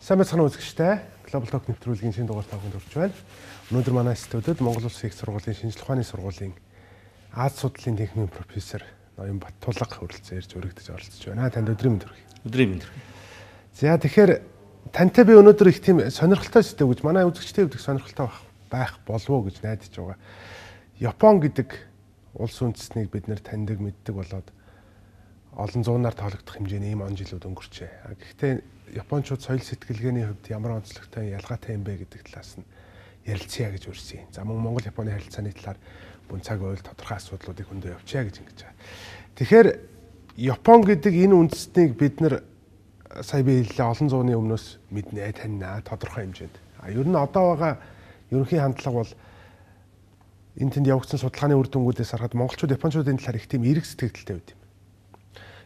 Сайн байцгаана үзэгчтэй. Global Talk нэвтрүүлгийн шинэ дугаар тавханд хүрч байна. Өнөөдөр манай студиуд Монгол Улсын их сургуулийн шинжлэх ухааны сургуулийн Аз судлалын техникийн профессор Ноён Баттулга хүрэлцэн ирж өргөдөж оролцож байна. Танд өдрийн мэнд хүргэе. Өдрийн мэнд хүргэе. За тэгэхээр тантай би өнөөдөр их тийм сонирхолтой сэдв гэж манай үзэгчтэй хэвдэх сонирхолтой байх болов уу гэж найдаж байгаа. Япон гэдэг улс үндэстнийг бид нэр таньдаг мэддэг болоод олон зуунаар тоологдох хэмжээний ийм он жилүүд өнгөрчээ. Гэхдээ Япончууд соёл сэтгэлгээний хувьд ямар онцлогтой ялгаатай юм бэ гэдэг талаас нь ярилцъя гэж урьсан. За мөн Монгол Японы харилцааны талаар бүн цаг уйл тодорхой асуудлуудыг хөндөө явуулъя гэж ингэж байгаа. Тэгэхээр Япон гэдэг энэ үндэстнийг бид нар сая би хэллээ олон зууны өмнөөс мэднэ, таньнаа тодорхой хэмжээнд. Ер нь одоо байгаа ерөнхий хандлага бол энэ тэнд явагдсан судалгааны үр дүнгуудээс харахад монголчууд Япончуудын талаар их тийм эерэг сэтгэлдэлтэй байд юм.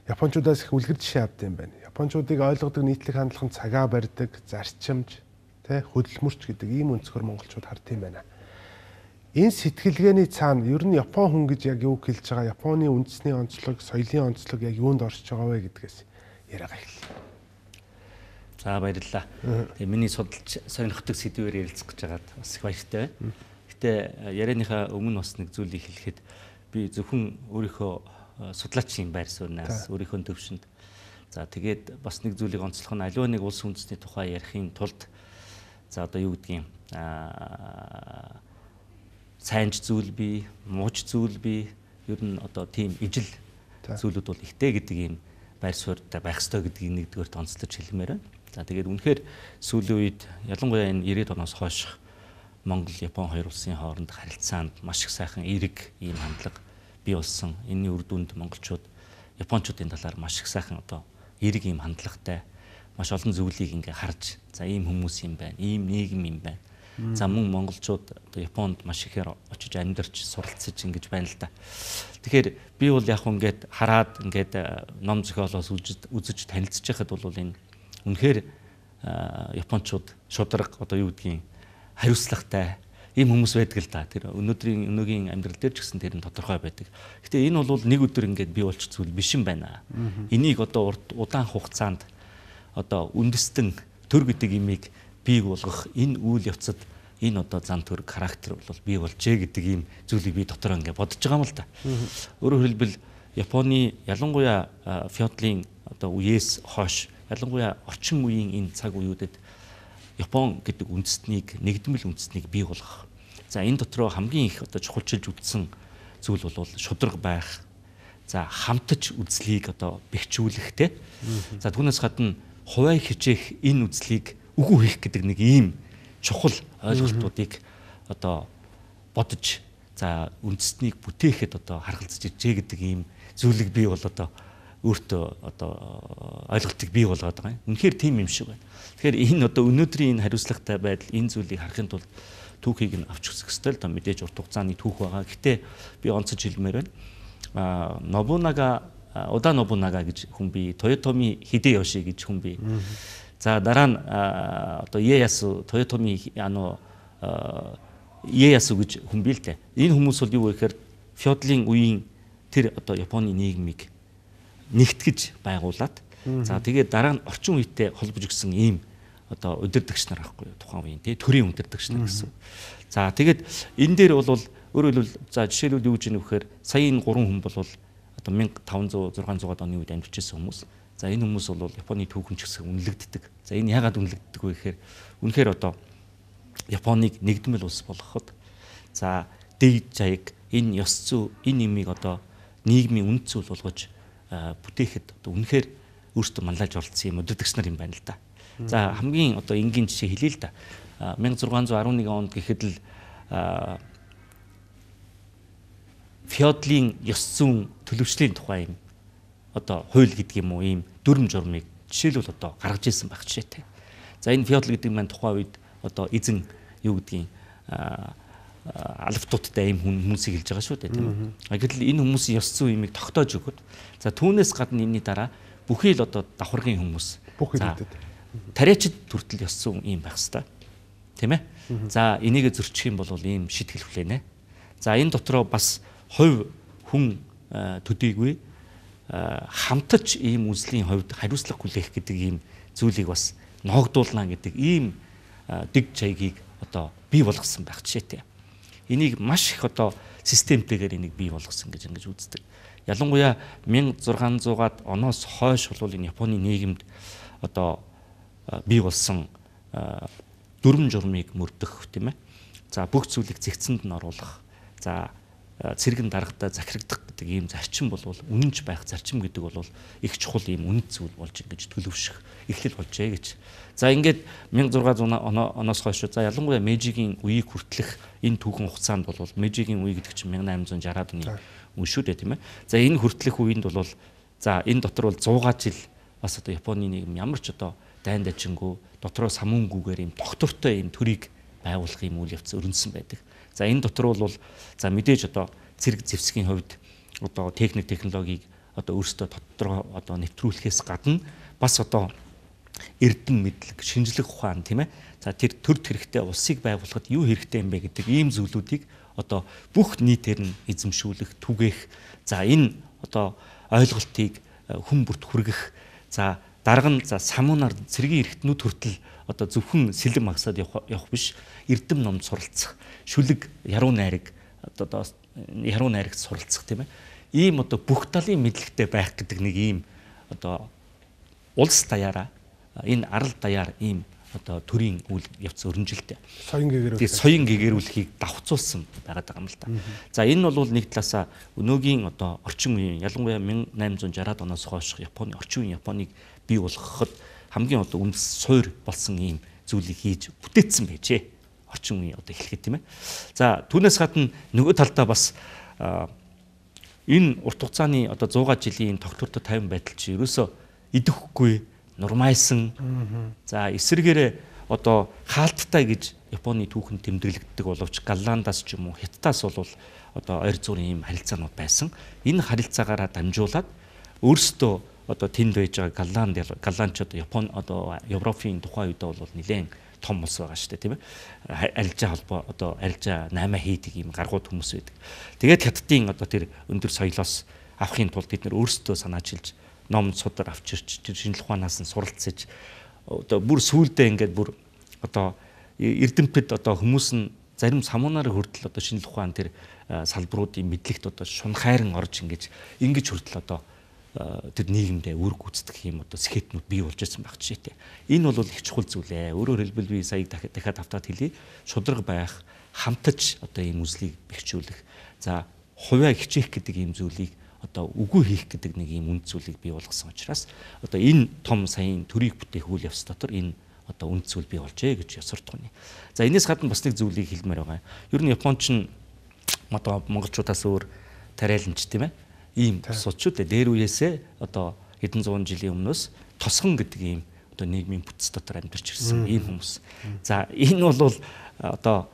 Япончуудаас их үлгэр жишээ авд юм байна. Япончуудыг ойлгодог нийтлэг хандлага нь цагаа барьдаг, зарчимж, хөдөлмөрч гэдэг ийм өнцгөр монголчууд хард юм байна. Энэ сэтгэлгээний цаана ер нь Япон хүн гэж яг юу хэлж байгаа, Японы үндэсний онцлог, соёлын онцлог яг юунд оршиж байгаа вэ гэдгээс яриагаа эхэллээ. За баярлалаа. Тэгээ миний судалж сонирхдаг сэдвээр ярилцах гэж байгаад бас их баяртай байна. Гэтэ ярианыхаа өмнө бас нэг зүйлийг хэлэхэд би зөвхөн өөрийнхөө судлаачийн байр сууриас өөрийнхөө төвшөнд за тэгээд бас нэг зүйлийг онцлох нь аливаа нэг улс үндэстний тухай ярихын тулд за одоо юу гэдгийг сайнч зүйл бий, мууч зүйл бий, ер нь одоо тийм ижил зүйлүүд бол ихтэй гэдэг ийм байр суурьтай байх ёстой гэдгийг нэгдүгээр онцлож хэлмээр байна. За тэгээд үнэхээр сүүлийн үед ялангуяа энэ 90-ад оноос хойш Монгол, Япон хоёр улсын хооронд харилцаанд маш их сайхан эерэг ийм хандлага бий болсон. Энэний үр дүнд монголчууд Япончуудын талаар маш их сайхан одоо эерэг ийм хандлагатай маш олон зүйлийг ингээ харж за ийм хүмүүс юм байна, ийм нийгэм юм байна. За мөн монголчууд одоо Японд маш ихээр очиж амьдарч суралцж ингэж байна л да. Тэгэхээр би бол яг ингээд хараад ингээд ном зохиолоос үзэж танилцж байхад бол энэ үнэхээр Япончууд шударга одоо юу гэдгийг хариуцлагатай ийм хүмүүс байдаг л да. Тэр өнөөгийн амьдрал дээр ч гэсэн тэр нь тодорхой байдаг. Гэтэ энэ бол нэг өдөр ингээд бий болчих зүйл биш юм байна. Энийг одоо удаан хугацаанд одоо үндэстэн төр гэдэг имийг бий болгох энэ үйл явцад энэ одоо зан төрөг характер бол бий болжээ гэдэг ийм зүйлийг би дотроо ингээд бодож байгаа юм л да. Өөрөөр хэлбэл Японы ялангуяа феодалын одоо үеэс хойш ялангуяа орчин үеийн энэ цаг үеүүдэд Япон гэдэг үндэстнийг нэгдмэл үндэстнийг бий болгох. За энэ дотроо хамгийн их одоо чухалчилж үзсэн зүйл бол шударга байх. За хамтж үзлийг одоо бэхжүүлэх те. За түүнээс гадна хуваа хичээх энэ үзлийг үгүй хийх гэдэг нэг ийм чухал ойлголтуудыг одоо бодож за үндэстнийг бүтээхэд одоо харгалзаж ижээ гэдэг ийм зүйлийг би бол одоо өөртөө одоо ойлголтыг бий болгоод байгаа юм. Үнэхээр тийм юм шиг байна. Тэгэхээр энэ одоо өнөөдрийн энэ хариуцлагатай байдал энэ зүйлийг харахын тулд түүхийг нь авч үзэх ёстой л да мэдээж урт хугацааны түүх байгаа. Гэтэ би онцож хэлмээр байна. Нобунага Ода Нобунага гэж хүн бий, Тоётоми Хидеёши гэж хүн бий. За дараа нь одоо Иеясу Тоётоми Иеясу гэж хүн бий л дээ. Энэ хүмүүс бол юу вэ гэхээр феодалын үеийн тэр одоо Японы нийгмийг нэгтгэж байгуулад за тэгээд дараа нь орчин үетэй холбож өгсөн ийм одоо удирдагч нар байхгүй юу тухайн үеийн тий төрийн удирдагч нар гэсэн. За тэгээд энэ дээр бол өөрөөр хэлбэл за жишээлбэл юу гэж юм вэхээр сая энэ 3 хүн бол одоо 1500 600-аад оны үед амьдарч байсан хүмүүс. За энэ хүмүүс бол Японы түүхэн ч гэсэн үнэлэгддэг. За энэ яагаад үнэлэгддэг вэ гэхээр үнэхээр одоо Японыг нэгдмэл улс болгоход за дэд жаяг энэ ёс зүй энэ имийг одоо нийгмийн үнд зүйл болгож бүтээхэд одоо үнэхээр өөртөө манлайлж оролцсон юм удирдагч нар юм байна л да. За хамгийн одоо энгийн жишээ хэлье л да. 1611 онд гэхэд л феодалын ёс зүйн төлөвшлийн тухай юм одоо хууль гэдэг юм уу ийм дүрм журмыг жишээлбэл одоо гаргаж ирсэн байх жишээтэй. За энэ феодал гэдэг маань тухайн үед одоо эзэн юу гэдгийг алфтуудтай ийм хүмүүсийг хэлж байгаа шүү дээ тийм үү. Гэтэл энэ хүмүүсийн ёс зүйн имийг тогтоож өгöd. За түүнээс гадна энэний дараа бүхий л одоо давхаргын хүмүүс. За тариачид хүртэл ёс зүйн им байх хэвээр. Тийм ээ. За энийг зөрчих юм бол ийм шид хэлхлэнэ. За энэ дотроо бас хувь хүн төдийгүй хамтарч ийм үзлийн хувьд хариуцлага хүлээх гэдэг ийм зүйлийг бас ногдуулна гэдэг ийм дэг чаягийг одоо бий болгосон байх жишээтэй. Энийг маш их одоо системтэйгээр энийг бий болгосон гэж ингэж үздэг. Ялангуяа 1600-аад оноос хойш бол энэ Японы нийгэмд одоо бий болсон дүрм журмыг мөрдөх тийм ээ. За бүх зүйлийг зэгцэнд нь оруулах. За цэргэн даргадаа захирагдах гэдэг ийм зарчим бол үнэнч байх зарчим гэдэг бол их чухал ийм үнэт зүйл болж ингэж төлөвшөх эхлэл болжээ гэж. За ингээд 1600 оноос хойш за ялангуяа Мэйжигийн үеийг хүртэлх энэ түүхэн хугацаанд бол Мэйжигийн үе гэдэг чинь 1860-аад оны үе шүү дээ тийм ээ. За энэ хүртэлх үеинд бол за энэ дотор бол 100 жил бас одоо Японы нийгэм ямар ч одоо дайн дажингүй дотроо самуунгүйгээр ийм тогтвортой ийм төрийг байгуулах ийм үйл явц өрнөсөн байдаг. За энэ дотор бол за мэдээж одоо цэрэг зэвсгийн хувьд одоо технологиг одоо өөрсдөө тодорхой одоо нэвтрүүлэхээс гадна бас одоо эрдэн мэдлэг, шинжлэх ухаан тийм ээ. За тэр төр хэрэгтэй улсыг байгуулахад юу хэрэгтэй юм бэ гэдэг ийм зүйлүүдийг одоо бүх нийтээр нь эзэмшүүлэх, түгээх. За энэ одоо ойлголтыг хүн бүрт хүргэх. За дарга нь за самуунаар цэргийн эрхтнүүд хүртэл одоо зөвхөн сэлэм магсаад явах биш, эрдэм номд суралцах, шүлэг, яруу найраг одоо яруу найрагт суралцах тийм ээ. Ийм одоо бүх талын мэдлэгтэй байх гэдэг нэг ийм одоо улс даяараа энэ арал даяар ийм одоо төрийн үйл явц өрнөжилтэй. Соён гэгэрүүлэхийг давхцуулсан байгаад байгаа юм л да. За энэ бол нэг талаасаа өнөөгийн одоо орчин үеийн ялангуяа 1860-аад оноос хойш Японы орчин үеийн Японыг бий болгоход хамгийн одоо үндэс суур болсон ийм зүйлийг хийж бүтээсэн байжээ. Орчин үеийн одоо эхлэхэд тийм ээ. За түүнээс гадна нөгөө талдаа бас энэ урт хугацааны одоо 100 жилийн тогтвортой 50 байдал чи ерөөсөө идэхгүй нурмайсан. За эсвэргээрээ одоо хаалттай гэж Японы түүхэн тэмдэглэгддэг боловч Голландаас ч юм уу Хятадаас бол одоо ойр зуурын ийм харилцаанууд байсан. Энэ харилцаагаараа дамжуулаад өөрсдөө одоо тэнд байж байгаа голландчууд Япон одоо Европын тухайн үед бол нэлээд том улс байгаа шүү дээ тийм ээ. Арилжаа холбоо одоо арилжаа 8 хийдэг ийм гаргууд хүмүүс байдаг. Тэгээд Хятадын одоо тэр өндөр соёлоос авахын тулд бид нэр өөрсдөө санаачилж ном судар авчирч тэр шинжлэх ухаанаас нь суралцж одоо бүр сүүлдээ ингээд бүр одоо эрдэмтэд одоо хүмүүс нь зарим самуунаар хүртэл одоо шинжлэх ухаан тэр салбаруудын мэдлэгт одоо шунхайран орж ингэж хүртэл одоо тэр нийгэмдээ үр гүйцэтгэх юм одоо схетнүүд бий болж ирсэн байх жишээтэй. Энэ бол их чухал зүйл ээ. Өөрөөр хэлбэл би сая дахиад автаад хэлье. Шудраг байх, хамтаж одоо ийм үзлийг бэхжүүлэх. За хувиа хичээх гэдэг ийм зүйлийг одоо үгүй хийх гэдэг нэг ийм үнд зүйлийг бий болгосон учраас одоо энэ том саяын төрийг бүтээх үйл явц дотор энэ одоо үнд зүйл бий болжээ гэж ясвартгоно. За энэс гадна бас нэг зүйлийг хэлмээр байгаа. Ер нь Японч нь одоо монголчуудаас өөр тариаланч тийм ээ. Ийм суудчууд дээр үеэсээ одоо хэдэн зуун жилийн өмнөөс тосгон гэдэг ийм одоо нийгмийн бүтц дотор амьдарч ирсэн ийм хүмүүс. За энэ бол одоо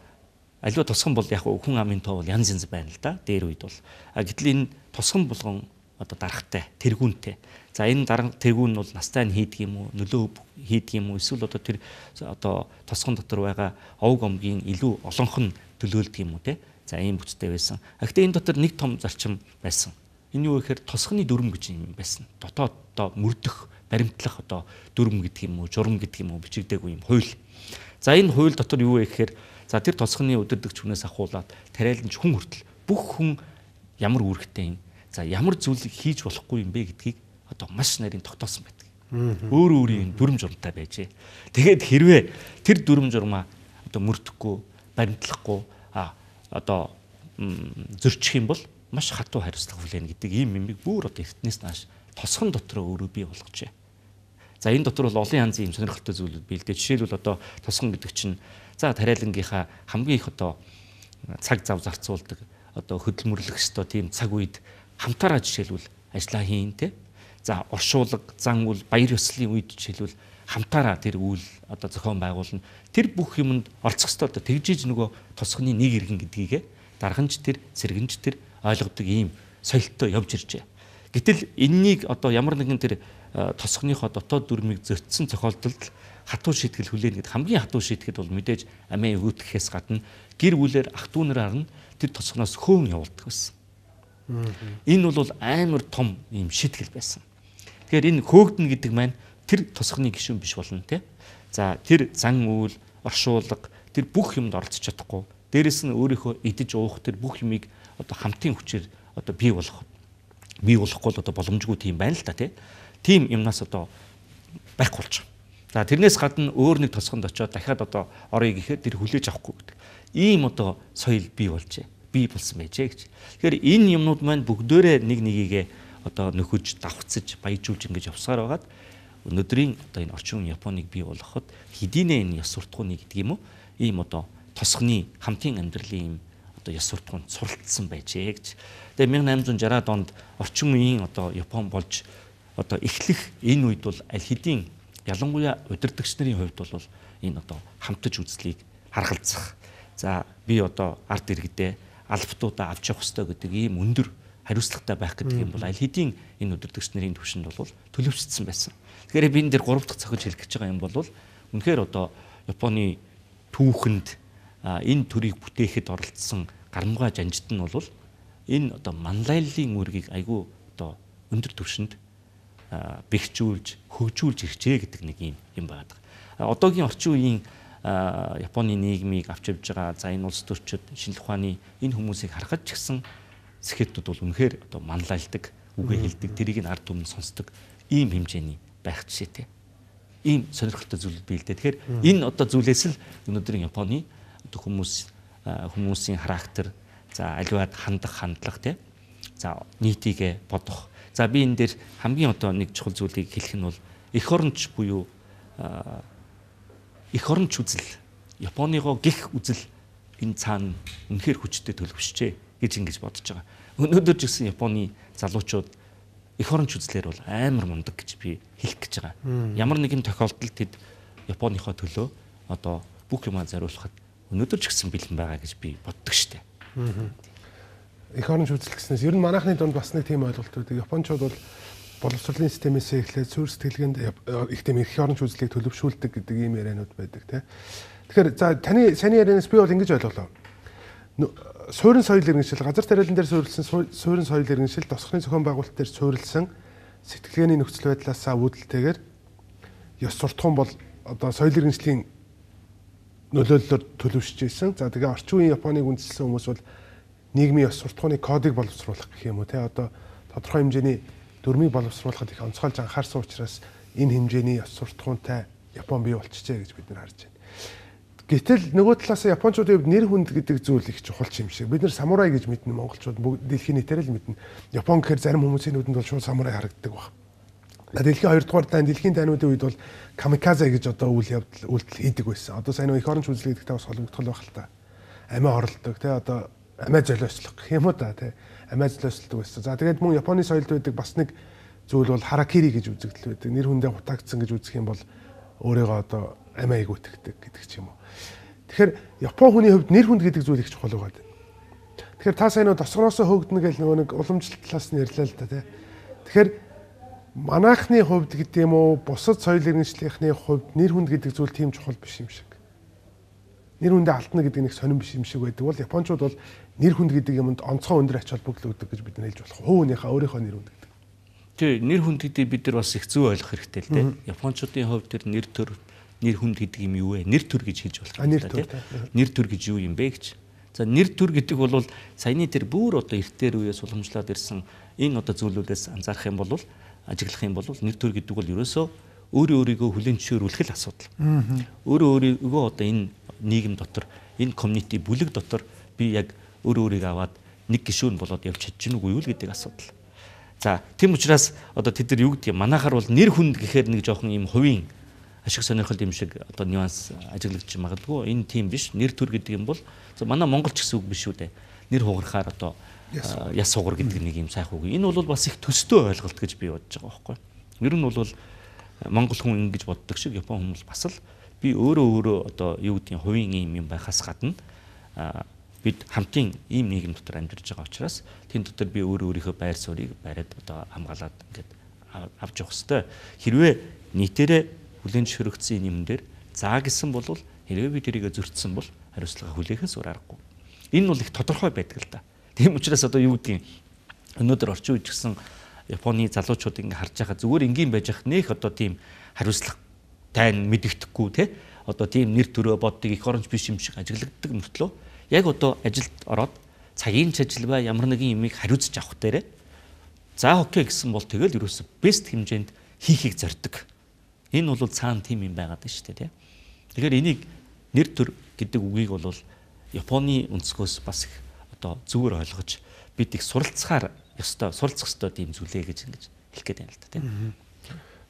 аливаа тосгон бол яг хүн амын тоо бол янз янз байна л да. Дээр үед бол гэтэл энэ тосгон болгон одоо дарахтай, тэргүүнтэй. За энэ тэргүүн нь бол настай нь хийдэг юм уу, нөлөө хийдэг юм уу, эсвэл одоо тэр одоо тосгон дотор байгаа овг омгийн илүү олонх нь төлөөлдөг юм уу те. За ийм бүтцтэй байсан. Гэхдээ энэ дотор нэг том зарчим байсан. Энэ юу гэхээр тосгоны дүрм гэж юм байсан. Дотоод одоо мөрдөх, баримтлах одоо дүрм гэдэг юм уу, журам гэдэг юм уу бичигдээгүй юм хууль. За энэ хууль дотор юу вэ гэхээр за тэр тосгоны өдөрдөгч хүнээс ахуулаад тариаланч хүн хүртэл бүх хүн ямар үүрэгтэй юм. За ямар зүйлийг хийж болохгүй юм бэ гэдгийг одоо маш нарийн тогтоосон байдаг. Өөр өөрийн дүрм журамтай байжээ. Тэгээд хэрвээ тэр дүрм журмаа одоо мөрдөхгүй, баримтлахгүй одоо зөрчих юм бол маш хатуу хариуцлага хүлээнэ гэдэг ийм юмыг бүр одоо эртнээс нааш тосгон дотроо өөрөө бий болгожээ. За энэ дотор бол олон янзын юм сонирхолтой зүйлүүд бий л дээ. Жишээлбэл одоо тосгон гэдэг чинь за тариалангийнхаа хамгийн их одоо цаг зав зарцуулдаг одоо хөдөлмөрлөх ёстой тийм цаг үед хамтаараа жишээлбэл ажиллаа хийн тэ. За оршуулга, зан үйл, баяр ёслолын үед жишээлбэл хамтаараа тэр үйл одоо зохион байгуулна. Тэр бүх юмд орцох ёстой одоо тэгжиж нөгөө тосгоны нэг иргэн гэдгийгэ дарганч тэр, сэргэнч тэр ойлгодог ийм соёлтой явж иржээ. Гэтэл энэнийг одоо ямар нэгэн тэр тосгоныхоо дотоод дүрмийг зөрчсөн тохиолдолд хатуу шийтгэл хүлээнэ гэдэг хамгийн хатуу шийтгэл бол мэдээж амиа өгөөдөхөөс гадна гэр бүлээр ах дүү нараар нь тэр тосгоноос хөөн явуулдаг байсан. Энэ бол амар том ийм шийтгэл байсан. Тэгэхээр энэ хөөгдөн гэдэг маань тэр тосгоны гишүүн биш болно те. За тэр зан үйл, оршуулга тэр бүх юмд оролцож чадахгүй. Дээрэс нь өөрийнхөө идэж уух тэр бүх юмыг одоо хамтын хүчээр одоо бий болохгүй л одоо боломжгүй тийм байна л та тийм юмнаас одоо байхгүй болж байгаа. За тэрнээс гадна өөр нэг тосгонд очиод дахиад одоо орё гэхээр тэр хүлээж авахгүй гэдэг. Ийм одоо соёл бий болжээ. Бий болсон байжээ гэж. Тэгэхээр энэ юмнууд маань бүгдөө нэг нэгийгээ одоо нөхөж, давхцаж, баяжуулж ингэж явсаар байгаад өнөөдрийн одоо энэ орчин үеийн Японыг бий болгоход хэдийнэ энэ ёс суртахууны гэдэг юм уу? Ийм одоо тосгоны хамтын амьдралын ийм одоо ёс суртахуунд суралцсан байжээ гэж. Тэгээ 1860-аад онд орчин үеийн одоо Япон болж одоо эхлэх энэ үед бол аль хэдийн ялангуяа удирдагч нарын хувьд бол энэ одоо хамтаж үзлийг харгалзах. За би одоо ард иргэдээ албатуудаа авч явах хэрэгтэй гэдэг ийм өндөр хариуцлагатай байх гэдэг юм бол аль хэдийн энэ удирдагч нарын түвшинд бол төлөвшсөн байсан. Тэгэхээр би энэ дээр 3 дахь цохиж хэлэх гэж байгаа юм бол үнэхээр одоо Японы түүхэнд энэ төрийг бүтээхэд оролцсон гарамгай жанжид нь бол энэ одоо манлайллын үүргийг айгүй одоо өндөр түвшинд бэхжүүлж, хөгжүүлж ирчээ гэдэг нэг юм байна. Одоогийн орчин үеийн Японы нийгмийг авч явж байгаа за энэ улс төрчид шинжлэх ухааны энэ хүмүүсийг харахад ч гэсэн сэхэтүүд бол үнэхээр одоо манлайлдаг, үгээ хэлдэг, тэрийг нь ард түмэнд сонсдог ийм хэмжээний байх жишээтэй. Ийм сонирхолтой зүйл бий л дээ. Тэгэхээр энэ одоо зүйлээс л өнөөдрийн Японы одоо хүмүүсийн характер, за аливаад хандах хандлага за нийтийгэ бодох. За би энэ дээр хамгийн одоо нэг чухал зүйлийг хэлэх нь бол эх оронч буюу эх оронч үзэл, Японыгоо гих үзэл энэ цаана үнэхээр хүчтэй төлөвшжээ гэж ингэж бодож байгаа. Өнөөдөр ч гэсэн Японы залуучууд эх оронч үзлэр бол амар мундаг гэж би хэлэх гэж байгаа. Ямар нэгэн тохиолдолд тэд Японыхоо төлөө одоо бүх юмаа зориулахад өнөөдөр ч гэсэн бэлэн байгаа гэж би боддог штеп. Эх оронч үзэл гэснээс ер нь манайхны дунд бас нэг тийм ойлголт үүдэг. Японочууд бол боловсролын системээс эхлээд суурь сэтгэлгээнд их тийм эх оронч үзлийг төлөвшүүлдэг гэдэг ийм яриануд байдаг тийм. Тэгэхээр за таны саний ярианаас би бол ингэж ойлголоо. Суурин соёл иргэншил, газар тариалан дээр суурилсан суурин соёл иргэншил, тосгоны зохион байгуулалт дээр суурилсан сэтгэлгээний нөхцөл байдлаасаа үүдэлтэйгээр ёс суртахуун бол одоо соёл иргэншлийн нөлөөллөөр төлөвшөж ирсэн. За тэгээ орчин үеийн Японыг үндэслсэн хүмүүс бол нийгмийн ёс суртахууны кодыг боловсруулах гэх юм уу те одоо тодорхой хэмжээний дүрмийг боловсруулахад их онцгойлж анхаарсан учраас энэ хэмжээний ёс суртахуунтай Япон бий болчихжээ гэж бид нар харж байна. Гэтэл нөгөө талаас Япончуудын хувьд нэр хүнд гэдэг зүйл их чухал юм шиг. Бид нар самурай гэж мэднэ монголчууд бүгд дэлхийн нийтээр л мэднэ. Япон гэхээр зарим хүмүүсийн нүдэнд бол шууд самурай харагддаг баг. Дэлхийн 2 дугаар дайн дэлхийн дайнуудын үед бол камиказе гэж одоо үйлдэл хийдэг байсан. Одоо сайн эх оронч үзэл гэдэгтэй бас холбогдол байх л та. Амиа оролдог те одоо амиа золиослох гэх юм уу та те. Амиа золиослдог байсан. За тэгээд мөн Японы соёлд байдаг бас нэг зүйл бол харакири гэж үзэгдэл байдаг. Нэр хүндээ хутагдсан гэж үзэх юм бол өөрийгөө одоо амиаг үтгэдэг гэдэг ч юм уу. Тэгэхээр Япон хүний хувьд нэр хүнд гэдэг зүйл их чухал байгаа. Тэгэхээр та сайн нөө тосгоноосоо хөөгдөнө гэж нөгөө нэг уламжлалт талаас нь ярьлаа л да тий. Тэгэхээр манайхны хувьд гэдэг юм уу бусад соёл иргэншлийнхны хувьд нэр хүнд гэдэг зүйл тийм чухал биш юм шиг. Нэр хүндээ алдна гэдэг нэг сонирн биш юм шиг байдаг. Бол Япончууд бол нэр хүнд гэдэг юмд онцгой өндөр ач холбогдол өгдөг гэж бид нар хэлж болох. Хүүнийхээ өөрийнхөө нэр хүнд гэдэг. Тий, нэр хүнд гэдэг бид нар бас их зөв ойлгох хэрэгтэй л дээ. Япончуудын хувьд тэр нэр төр нэр хүнд гэдэг юм юу вэ? Нэр төр гэж хэлж болох юм да тий. Нэр төр гэж юу юм бэ гэж. За нэр төр гэдэг бол саяны тэр бүр одоо эртээр үеэс уламжлаад ирсэн энэ одоо зүйлүүдээс анзаарах юм бол ажиглах юм бол нэр төр гэдэг бол ерөөсөө өөрийгөө хүлээн зөвшөөрүүлэх л асуудал. Өөрийгөө одоо энэ нийгэм дотор энэ community бүлэг дотор би яг өөрийгөө аваад нэг гишүүн болоод явж чадж гэнэ үгүй юу гэдэг асуудал. За тийм учраас одоо тэд нар юу гэдэг юм манайхаар бол нэр хүнд гэхээр нэг жоохон юм хувийн ашиг сонирхол юм шиг одоо нюанс ажиглагдчих магадгүй. Энэ тийм биш. Нэр төр гэдэг юм бол манай монголч гэсэн үг биш үү дээ. Нэр хугарахаар одоо яс сугар гэдэг нэг юм сайх үг. Энэ бол бас их төстэй ойлголт гэж би бодож байгаа байхгүй. Ер нь бол монгол хүн ингэж боддог шиг Япон хүмүүс бас л би өөрөө одоо юу гэдгийг хувийн юм байхаас гадна бид хамтын ийм нийгэм дотор амьдарч байгаа учраас тэн дотор би өөрийнхөө байр суурийг бариад одоо хамгаалаад ингээд авч явах хэрэгтэй. Хэрвээ нийтээрээ хүлээн зөвшөөрөгдсөн юм дээр заа гэсэн бол хэрвээ би тэрийг зөрчсөн бол хариуцлага хүлээхээс өөр аргагүй. Энэ бол их тодорхой байдаг л да. Тийм учраас одоо юу гэдгийг өнөөдөр орчин үед гэсэн Японы залуучууд ингэ харж байгаа зүгээр энгийн байж ах нэх одоо тийм хариуцлага тань мэдэгдэхгүй те одоо тийм нэр төрөө боддог эх оронч биш юм шиг ажиглагддаг мөртлөө яг одоо ажилд ороод цагийн ажил ба ямар нэгэн юмыг хариуцж авах дээрээ за окей гэсэн бол тэгэл ерөөсө бест хэмжээнд хийхийг зорддог. Энэ бол цаана тийм юм байгаад байна шүү дээ те. Тэгэхээр энийг нэр төр гэдэг үгийг бол Японы өнцгөөс бас их одоо зүгээр ойлгож бид их суралцах ёстой тийм зүйлээ гэж ингэж хэлэх гээд байна л да тийм.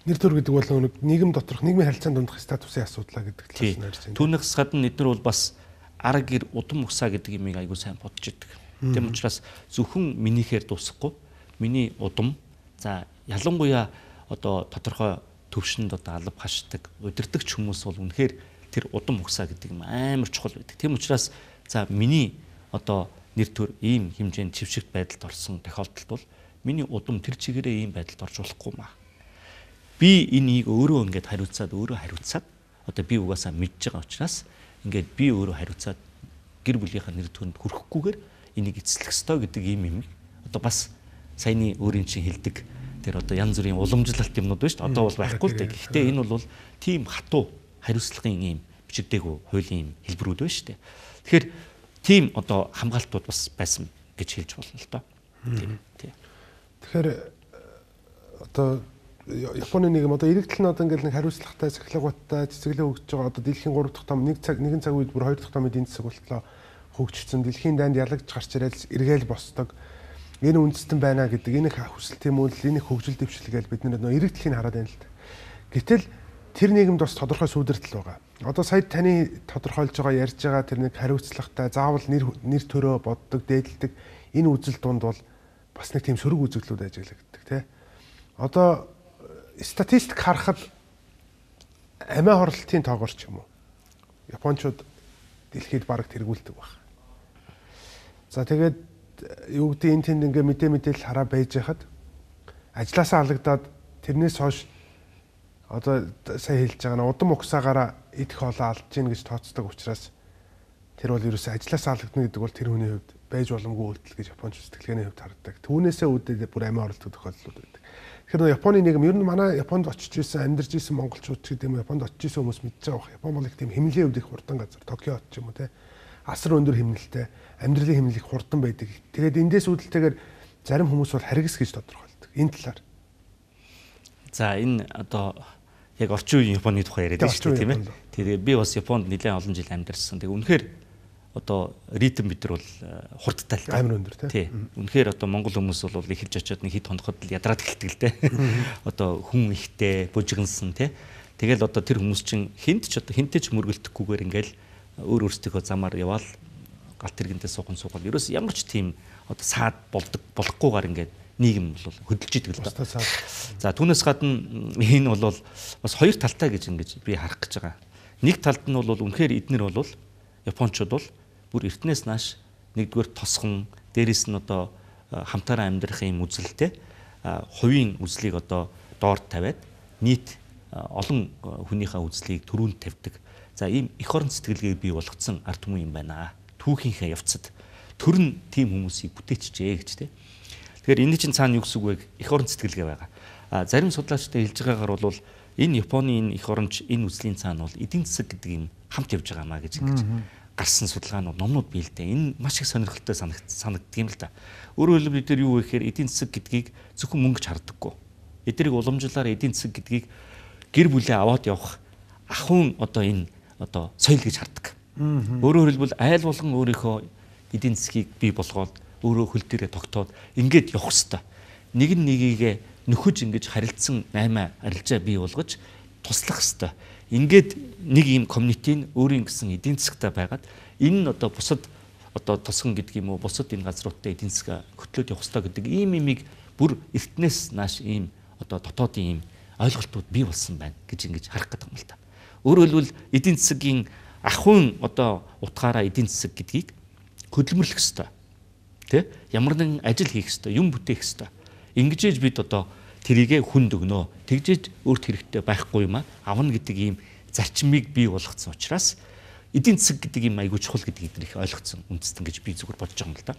Нэр төр гэдэг бол нэг нийгэм доторх нийгмийн харилцаанд дундах статусын асуудлаа гэдэг талаас нь ярьж байна. Түүнээс гадна эдгээр бол бас ар гэр удам усаа гэдэг юмыг айгүй сайн бодож идэг. Тийм учраас зөвхөн минийхээр дуусахгүй миний удам за ялангуяа одоо тодорхой төвшөнд одоо алба хашдаг удирдахч хүмүүс бол үнэхээр тэр удам усаа гэдэг юм амар чухал байдаг. Тийм учраас за миний одоо нэр төр ийм хэмжээнд чившигт байдалд орсон тохиолдолд бол миний удам тэр чигээрээ ийм байдалд орж болохгүй маа. Би энийг өөрөө ингээд хариуцаад одоо би угаасаа мэдж байгаа учраас ингээд би өөрөө хариуцаад гэр бүлийнхаа нэр төрөнд хүрэхгүйгээр энийг эцэслэх ёстой гэдэг ийм юм. Одоо бас саяны өөрийн чинь хэлдэг тэр одоо янз бүрийн уламжлалт юмнууд байна шүү дээ. Одоо бол байхгүй л дээ. Гэхдээ энэ бол тийм хатуу хариуцлагын ийм бичигдээгүй хуулийн хэлбэрүүд байна шүү дээ. Тэгэхээр тийм одоо хамгаалтууд бас байсан гэж хэлж болно л доо. Тийм. Тэгэхээр одоо Японы нийгэм одоо иргэдэл нь одоо ингээл нэг хариуцлагатай, цахилгаантай цэцэглээ хөгжиж байгаа. Одоо дэлхийн 3 дахь том нэгэн цаг үед бүр 2 дахь том эдийн засаг болтлоо хөгжчихсэн. Дэлхийн дайнд ялагч гарч ирэл эргээл босдог. Энэ үндэстэн байна гэдэг энэ хүсэл тэмүүлэл, энэ хөгжил дэвшлгээл бид нэр иргэдлийг хараад байна л да. Гэтэл тэр нийгэмд бас тодорхой сүудэрдэл байгаа. Одоо сая таны тодорхойлж байгаа ярьж байгаа тэр нэг хариуцлагатай, заавал нэр төрөө боддог, дээдэлдэг энэ үзэл дунд бол бас нэг тийм сөрөг үзэгдлүүд ажиглагддаг тий. Одоо статистик харахад амиа хорлолтын тоогоор ч юм уу Япончууд дэлхийд бараг тэргүүлдэг баг. За тэгээд юу гэдэг энэ тэнд ингээ мэдээлэл хараа байж хахад ажилласаа алагдаад тэрнээс хойш одоо сая хэлж байгаа нь удам угсаагаараа идэх хоолоо алдж гин гэж тооцдог учраас тэр бол ерөөсөө ажилласаа алагдана гэдэг бол тэр хүний хувьд байж боломгүй үйлдэл гэж Японч сэтгэлгээний хувьд хардаг. Түүнээсээ үүдээ бүр амиа хорлолтын тохиолдлууд байдаг. Тэгэхээр Японы нийгэм ер нь манай Японд очиж исэн, амьдарч исэн монголчууд ч гэдэг юм Японд очиж исэн хүмүүс мэдж байгаа бох. Япон бол их тийм хэмнэлийн хувьд их хурдан газар, Токио ч юм уу те. Асар өндөр хэмнэлтэй, амьдралын хэмнэл их хурдан байдаг. Тэгээд эндээс үүдэлтэйгээр зарим хүмүүс бол харгас гэж тодорхойлдог. Энэ талаар. За энэ одоо яг орчин үеийн Японы тухай яриад байна шүү дээ тийм ээ. Тэгээд би бас Японд нэлээд олон жил амьдарсан. Тэгээд үнэхээр одоо ритм бид нар бол хурдтай л амар өндөр тийм. Үнэхээр одоо монгол хүмүүс бол эхэлж очиод нэг хэд хоногт л ядраад эхэлдэг л дээ. Одоо хүн ихтэй, бужигнсан тийм. Тэгэл одоо тэр хүмүүс чинь хинтээ ч мөргөлдөхгүйгээр ингээл өөр өөрсдийнхөө замаар яваал галт тэргэндээ суухан ерөөс ямар ч тийм одоо саад болохгүйгээр ингээд нийгэм бол хөдөлж идэг л доо. За түүнээс гадна энэ бол бас хоёр талтай гэж ингэж би харах гэж байгаа. Нэг талд нь бол үнэхээр эднэр бол Япончууд бол бүр эртнээс нааш нэгдүгээр тосхон дээрэс нь одоо хамтаараа амьдрах юм үзэлтэй хувийн үзлийг одоо доор тавиад нийт олон хүнийхээ үзлийг түрүүнд тавьдаг. За ийм эх орон сэтгэлгээг бий болгоцсон ард түмэн юм байна. Түүхийнхээ явцад төр нь тийм хүмүүсийг бүтээчжээ гэж тийм. Тэгэхээр энэ чинь цаана юу гэсэн үг вэ? Эх орон сэтгэлгээ байгаа. Зарим судлаачтай хэлж байгаагаар бол энэ Японы энэ эх оронч энэ үзлийн цаана бол эдийн засаг гэдэг юм хамт явж байгаа маа гэж ингэж гарсан судалгаанууд номнууд бий л дээ. Энэ маш их сонирхолтой санагддаг юм л да. Өөрөөр хэлбэл бид нар юу вэ гэхээр эдийн засаг гэдгийг зөвхөн мөнгөж харддаггүй. Эднийг уламжлалаар эдийн засаг гэдгийг гэр бүлээ аваад явах ахуйн одоо энэ одоо соёл гэж хардаг. Өөрөөр хэлбэл айл болгон өөрийнхөө эдийн засгийг бий болгоод өөрөө хөл дээрээ тогтоод ингээд явах хэвээр. Нэг нь нэгийгээ нөхөж ингэж харилцсан 8 арилжаа бий болгож туслах хэвээр. Ингээд нэг ийм комьюнитийн өөрийн гэсэн эдийн засгтай байгаад энэ нь одоо бусад одоо тосгон гэдэг юм уу бусад энэ газруудтай эдийн засаг хөтлөөд явах хэрэгтэй гэдэг ийм имийг бүр эртнээс нааш ийм одоо дотоодын ийм ойлголтууд бий болсон байна гэж ингэж харах гэдэг юм л та. Өөрөөр хэлбэл эдийн засгийн ахуйн одоо утгаараа эдийн засаг гэдгийг хөдөлмөрлөх хэрэгтэй. Тэ? Ямар нэгэн ажил хийх хэрэгтэй, юм бүтээх хэрэгтэй. Ингэжээж бид одоо тэрийгэ хүнд өгнө. Тэгжээж өөрт хэрэгтэй байхгүй юм аа. Авна гэдэг ийм зарчмыг бий болгоцсон учраас эдийн засаг гэдэг юм айгүй чухал гэдгийг бид их ойлгоцсон үндэстэн гэж би зүгээр бодож байгаа юм л да.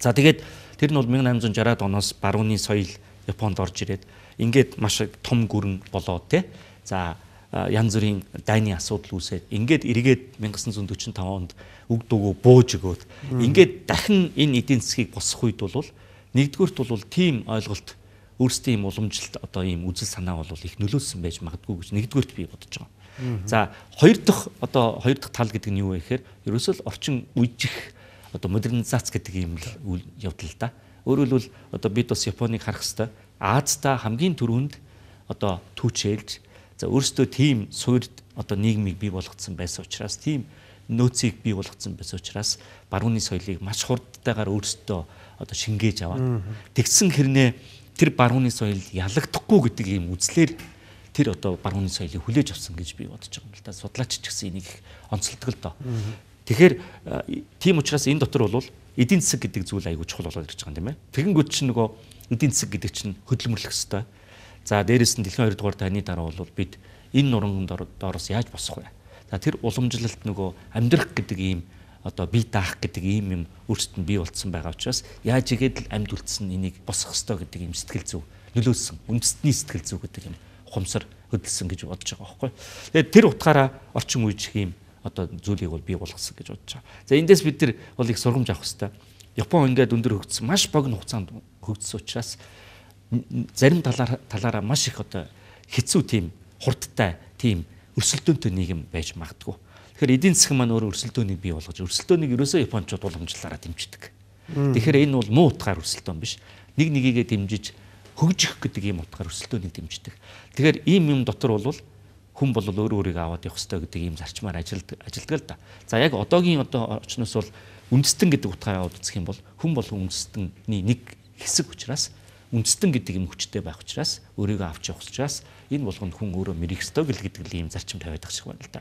За тэгээд тэр нь бол 1860-аад оноос барууны соёл Японд орж ирээд ингээд маш том гүрэн болоод те. За янз бүрийн дайны асуудал үүсээд ингээд эргээд 1945 онд үг дуугүй бууж өгөөд ингээд дахин энэ эдийн засгийг босгох үед бол нэгдүгürt бол тийм ойлголт өөрсдийн юм уламжилт одоо ийм үзэл санаа бол их нөлөөлсөн байж магадгүй гэж нэгдүгürt би бодож байгаа. За хоёр дахь тал гэдэг нь юу вэ гэхээр ерөөсөө л орчин үеих одоо модернизац гэдэг ийм үйл явдал л да. Өөрөөр хэлбэл одоо бид бас Японыг харах хэрэгтэй. Азта хамгийн түрүүнд одоо түүчээлж за өөрсдөө тийм суурьд одоо нийгмийг бий болгоцсон байсан учраас тийм нөөцийг бий болгоцсон байсан учраас барууны соёлыг маш хурдтайгаар өөрсдөө одоо шингээж аваад тэгсэн хэрнээ тэр барууны соёл ялагдахгүй гэдэг ийм үзлээр тэр одоо барууны соёлыг хүлээж авсан гэж би бодож байгаа юм л да. Судлаач ч гэсэн энийг онцлдог л доо. Тэгэхээр тийм учраас энэ дотор бол эдийн засаг гэдэг зүйл айгүй чухал болоод ирж байгаа юм тийм ээ. Тэгэнгүүт чинь нөгөө эдийн засаг гэдэг чинь хөдөлмөрлөх ёстой. За дээрэс нь дэлхийн 2 дугаар дайны дараа бол бид энэ нуранган доороос яаж босох вэ? За тэр уламжлалт нөгөө амьдрах гэдэг ийм одоо бие даах гэдэг ийм юм өөрсдөд нь бий болцсон байгаа учраас яаж игээд л амьд үлдсэн энийг босгох ёстой гэдэг ийм сэтгэл зүй нөлөөлсөн. Үндэстний сэтгэл зүй гэдэг юм ухамсар хөдөлсөн гэж бодож байгаа байхгүй. Тэгээд тэр утгаараа орчин үеийн ийм одоо зүйлийг бол бий болгосон гэж бодож байгаа. За эндээс бид нар бол их сургамж авах хэрэгтэй. Япон ингээд өндөр хөгжсөн маш богино хугацаанд хөгжсөн учраас зарим талаараа маш их одоо хэцүү тийм хурдтай тийм өрсөлдөөнтэй нийгэм байж магадгүй. Тэгэхээр эдийн засаг маань өөрөө өрсөлдөөнийг бий болгож өрсөлдөөнийг ерөөсөө японочууд уламжлалаараа дэмждэг. Тэгэхээр энэ бол муу утгаар өрсөлдөөн биш. Нэг нэгийгээ дэмжиж хөгжих гэдэг ийм утгаар өрсөлдөөнийг дэмждэг. Тэгэхээр ийм юм дотор бол хүн бол өөрөө өөрийгөө аваад явах хэрэгтэй гэдэг ийм зарчмаар ажилдаг л да. За яг одоогийн очноос бол үндэстэн гэдэг утгаараа үзэх юм бол хүн болон үндэстний нэг хэсэг учраас үндэстэн гэдэг юм хүчтэй байх учраас өөрийгөө авч явах учраас энэ болгонд хүн өөрөө мэрэх ёстой гэдэг ийм зарчим тавиад байгаа шиг байна л да.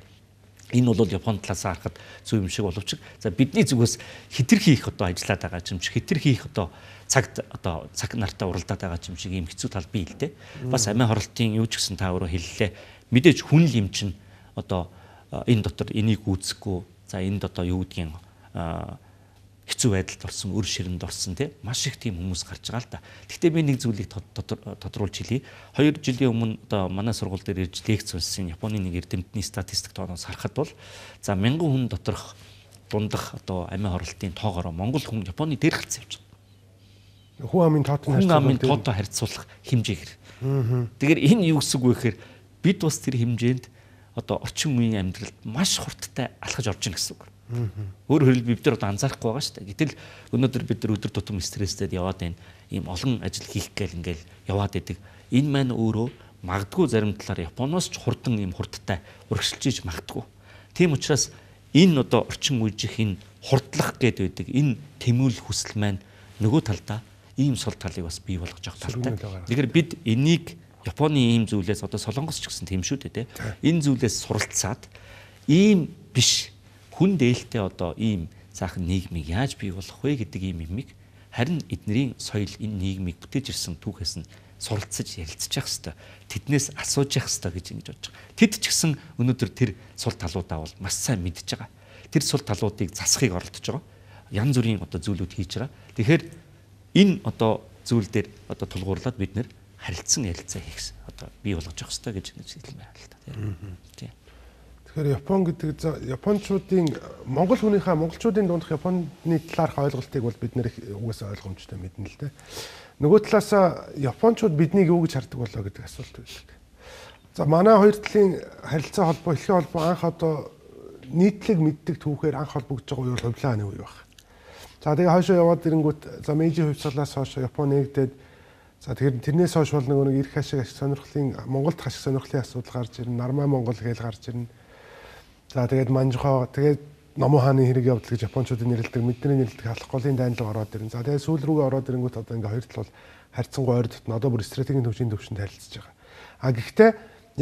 Энэ бол Японы талаас харахад зөв юм шиг боловч за бидний зүгээс хэтэрхий их одоо ажиллаад байгаа юм шиг хэтэрхий их одоо цаг нартаа уралдаад байгаа юм шиг ийм хэцүү тал бий л дээ. Бас амиа хорлтын юу ч гэсэн та өөрөө хэллээ. Мэдээж хүн л юм чинь одоо энэ дотор энийг үүсэхгүй за энд одоо юу гэдгийг хэцүү байдалд орсон, өр ширэнд орсон тий маш их тийм хүмүүс гарч байгаа л да. Гэхдээ би нэг зүйлийг тодруулж хэлье. 2 жилийн өмнө одоо манай сургууль дээр ирж лекц уншсан Японы нэг эрдэмтний статистик тооноос харахад бол за 1000 хүн доторх дундах одоо амиа хорлтын тоогоор Монгол хүн Японы дээр гарсан явж байгаа. Хүн амын тоотой харьцуулах хэмжээгээр. Тэгэхээр энэ юу гэсэн үг вэ гэхээр бид бас тэр хэмжээнд одоо орчин үеийн амьдралд маш хурдтай алхаж орж ийн гэсэн үг. Өөрөөр хэлбэл бид нар одоо анзаарахгүй байгаа шүү дээ. Гэтэл өнөөдөр бид нар өдөр тутам стресстэд яваад байна. Ийм олон ажил хийх гээл ингээл яваад идэг. Энэ маань өөрөө магадгүй зарим талаар Японоос ч хурдан ийм хурдтай урагшилж магадгүй. Тийм учраас энэ одоо орчин үеийнх энэ хурдлах гээд байдаг энэ тэмүүлэл хүсэл маань нөгөө талдаа ийм сул талыг бас бий болгож явах талтай. Тэгэхээр бид энийг Японы ийм зүйлээс одоо Солонгос ч гэсэн тийм шүү дээ. Энэ зүйлээс суралцаад ийм биш хүн дээлтэй одоо ийм цаахан нийгмийг яаж бий болгох вэ гэдэг ийм юмыг харин эднэрийн соёл энэ нийгмийг бүтээж ирсэн түүхээс нь суралцаж ярилцах хэрэгтэй. Тэднээс асууж явах хэрэгтэй гэж ингэж бодож байгаа. Тэд ч гэсэн өнөөдөр тэр сул талуудаа бол маш сайн мэдж байгаа. Тэр сул талуудыг засахыг оролдож байгаа. Янз бүрийн одоо зүйлүүд хийж байгаа. Тэгэхээр энэ одоо зүйл дээр одоо тулгуурлаад бид нэр харилцсан ярилцаа хийх одоо бий болгож явах хэрэгтэй гэж хэлмээр байна л та. Тийм. Тэгэхээр Япон гэдэг японочдын монголчуудын дундх Японы талаарх ойлголтыг бол бид нэр угаасаа ойлгомжтой мэднэ л дээ. Нөгөө талаас японочууд биднийг юу гэж хардаг болоо гэдэг асуулт байдаг. За манай хоёр талын харилцаа холбоо, хэлхийн холбоо анх одоо нийтлэг мэддэг түүхээр анх холбогдож байгаа үе бол хувилааны үе баг. За тэгээ хойшоо яваад ирэнгүүт за Мэйжийн хувьсгалаас хойш Япон нэгдээд за тэгэхээр тэрнээс хойш бол нэг эрх ашиг сонирхлын Монголд ашиг сонирхлын асуудал гарч ирнэ. Нармай Монгол гэж гарч ирнэ. За тэгээд Манжухаа тэгээд Номон хааны хэрэг явдал гэж японочдын нэрлэдэг, мэдний нэрлэдэг халах голын дайнлага ороод ирнэ. За тэгээд сүүл рүүгээ ороод ирэнгүүт одоо ингээ хоёр тал бол харьцангуй ойр дотно одоо бүр стратегийн төвшин төвшөнд харилцаж байгаа. А гэхдээ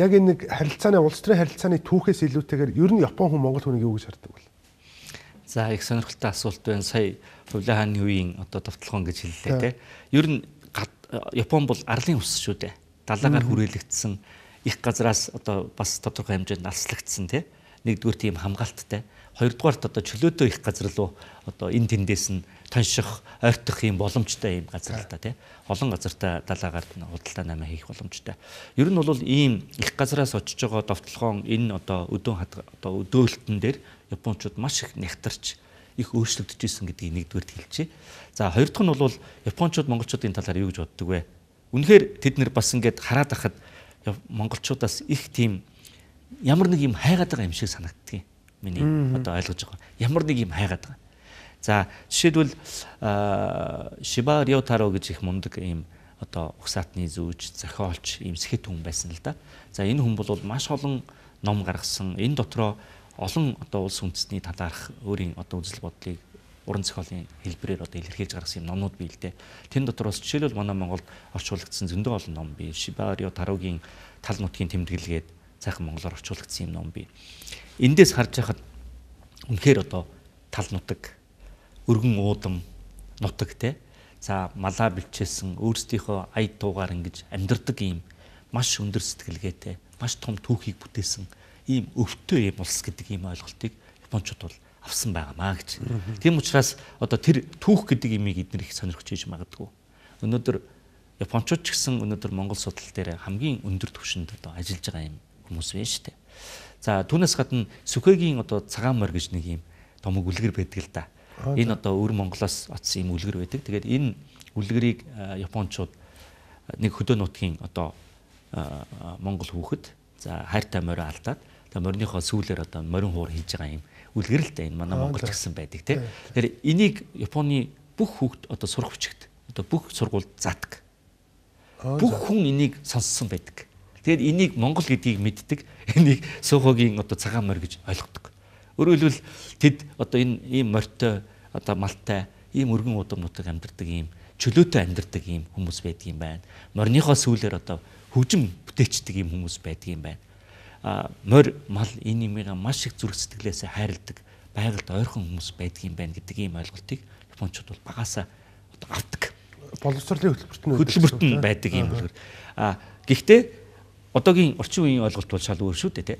яг энэ нэг харилцааны улс төрийн харилцааны түүхээс илүүтэйгээр ер нь Япон хүн Монгол хүнийг юу гэж хардаг вэ? За их сонирхолтой асуулт байна. Сая Хувлаа хааны үеийн одоо довтлогон гэж хэллээ те. Ер нь Япон бол арлын ус шүү дээ. Далаагаар хүрээлэгдсэн их газраас одоо бас тодорхой хэмжээнд алслагдсан те. Нэгдүгээр тийм хамгаалттай. хоёрдугаарт одоо чөлөөтэй их газар руу одоо энэ тэндээс нь тонших, ойртох юм боломжтой юм газар л та тий. Олон газартаа далаагаар худалдаа намаа хийх боломжтой. Ер нь бол ийм их газараас очиж байгаа довтлогоон энэ одоо өдөөлтөн дээр японочууд маш их нягтарч их өөрчлөгдөж исэн гэдгийг нэгдүгээр хэлчихье. За хоёр дахь нь бол японочууд монголчуудын талаар юу гэж боддог вэ? Үнэхээр тэд нэр бас ингээд хараад ахад монголчуудаас их тийм ямар нэг юм хайгаад байгаа юм шиг санагддаг юм. Миний одоо ойлгож байгаа. Ямар нэг юм хайгаад байгаа. За жишээлбэл Шиба Рётаро гэж их мундаг ийм одоо угсаатны зүүж, зохиолч, ийм сэхэт хүн байсан л да. За энэ хүн бол маш олон ном гаргасан. Энэ дотроо олон одоо улс үндэстний талаарх өөрийн одоо үзэл бодлыг уран зохиолын хэлбэрээр одоо илэрхийлж гаргасан юм номнууд бий л дээ. Тэн дотроос жишээлбэл манай Монголд орчуулагдсан зөндөө олон ном бий. Шиба Рётарогийн тал нутгийн тэмдэглэгээд сайхан монголоор орчуулагдсан юм ном бий. Эндээс харж байхад үнэхээр одоо тал нутаг, өргөн уудам нутаг те. За малаа бэлчээсэн өөрсдийнхөө аяд туугаар ингэж амьдардаг ийм маш өндөр сэтгэлгээтэй, маш том түүхийг бүтээсэн ийм өвтөө юм улс гэдэг ийм ойлголтыг японочууд бол авсан байгаамаа гэж. Тийм учраас одоо тэр түүх гэдэг имийг эдгээр их сонирхож ийж магадгүй. Өнөөдөр японочууд ч гэсэн өнөөдөр Монгол судал дээр хамгийн өндөр түвшинд одоо ажиллаж байгаа юм хүмүүс байна шүү дээ. За түүнээс гадна Сүхэгийн одоо цагаан морь гэж нэг ийм томог үлгэр байдаг л да. Энэ одоо өвөр Монголоос очсон ийм үлгэр байдаг. Тэгээд энэ үлгэрийг японочууд нэг хөдөө нутгийн одоо Монгол хүүхэд за хайртай морио алдаад тэгээ морьныхоо сүүлээр одоо морин хуур хийж байгаа юм үлгэр л да энэ манай Монголч гэсэн байдаг тий. Тэгэхээр энийг Японы бүх хүүхэд одоо сурах бичигт одоо бүх сургуульд задаг. Бүх хүн энийг сонссон байдаг. Тэгээд энийг Монгол гэдгийг мэддэг. Энийг Сүхэгийн одоо цагаан морь гэж ойлгодог. Өөрөөр хэлбэл тэд одоо энэ ийм морьтой одоо малтай ийм өргөн удам нутаг амьдардаг ийм чөлөөтэй амьдардаг ийм хүмүүс байдаг юм байна. Морьныхоо сүүлээр одоо хөгжим бүтээчдэг ийм хүмүүс байдаг юм байна. Морь мал энэ юмыг маш их зүрх сэтгэлээсээ хайрладаг, байгальд ойрхон хүмүүс байдаг юм байна гэдэг ийм ойлголтыг японочууд бол багасаа одоо авдаг. Боловсролын хөтөлбөрт нь байдаг юм үлгэр. Гэхдээ одоогийн орчин үеийн ойлголт бол шал өөр шүү дээ тий.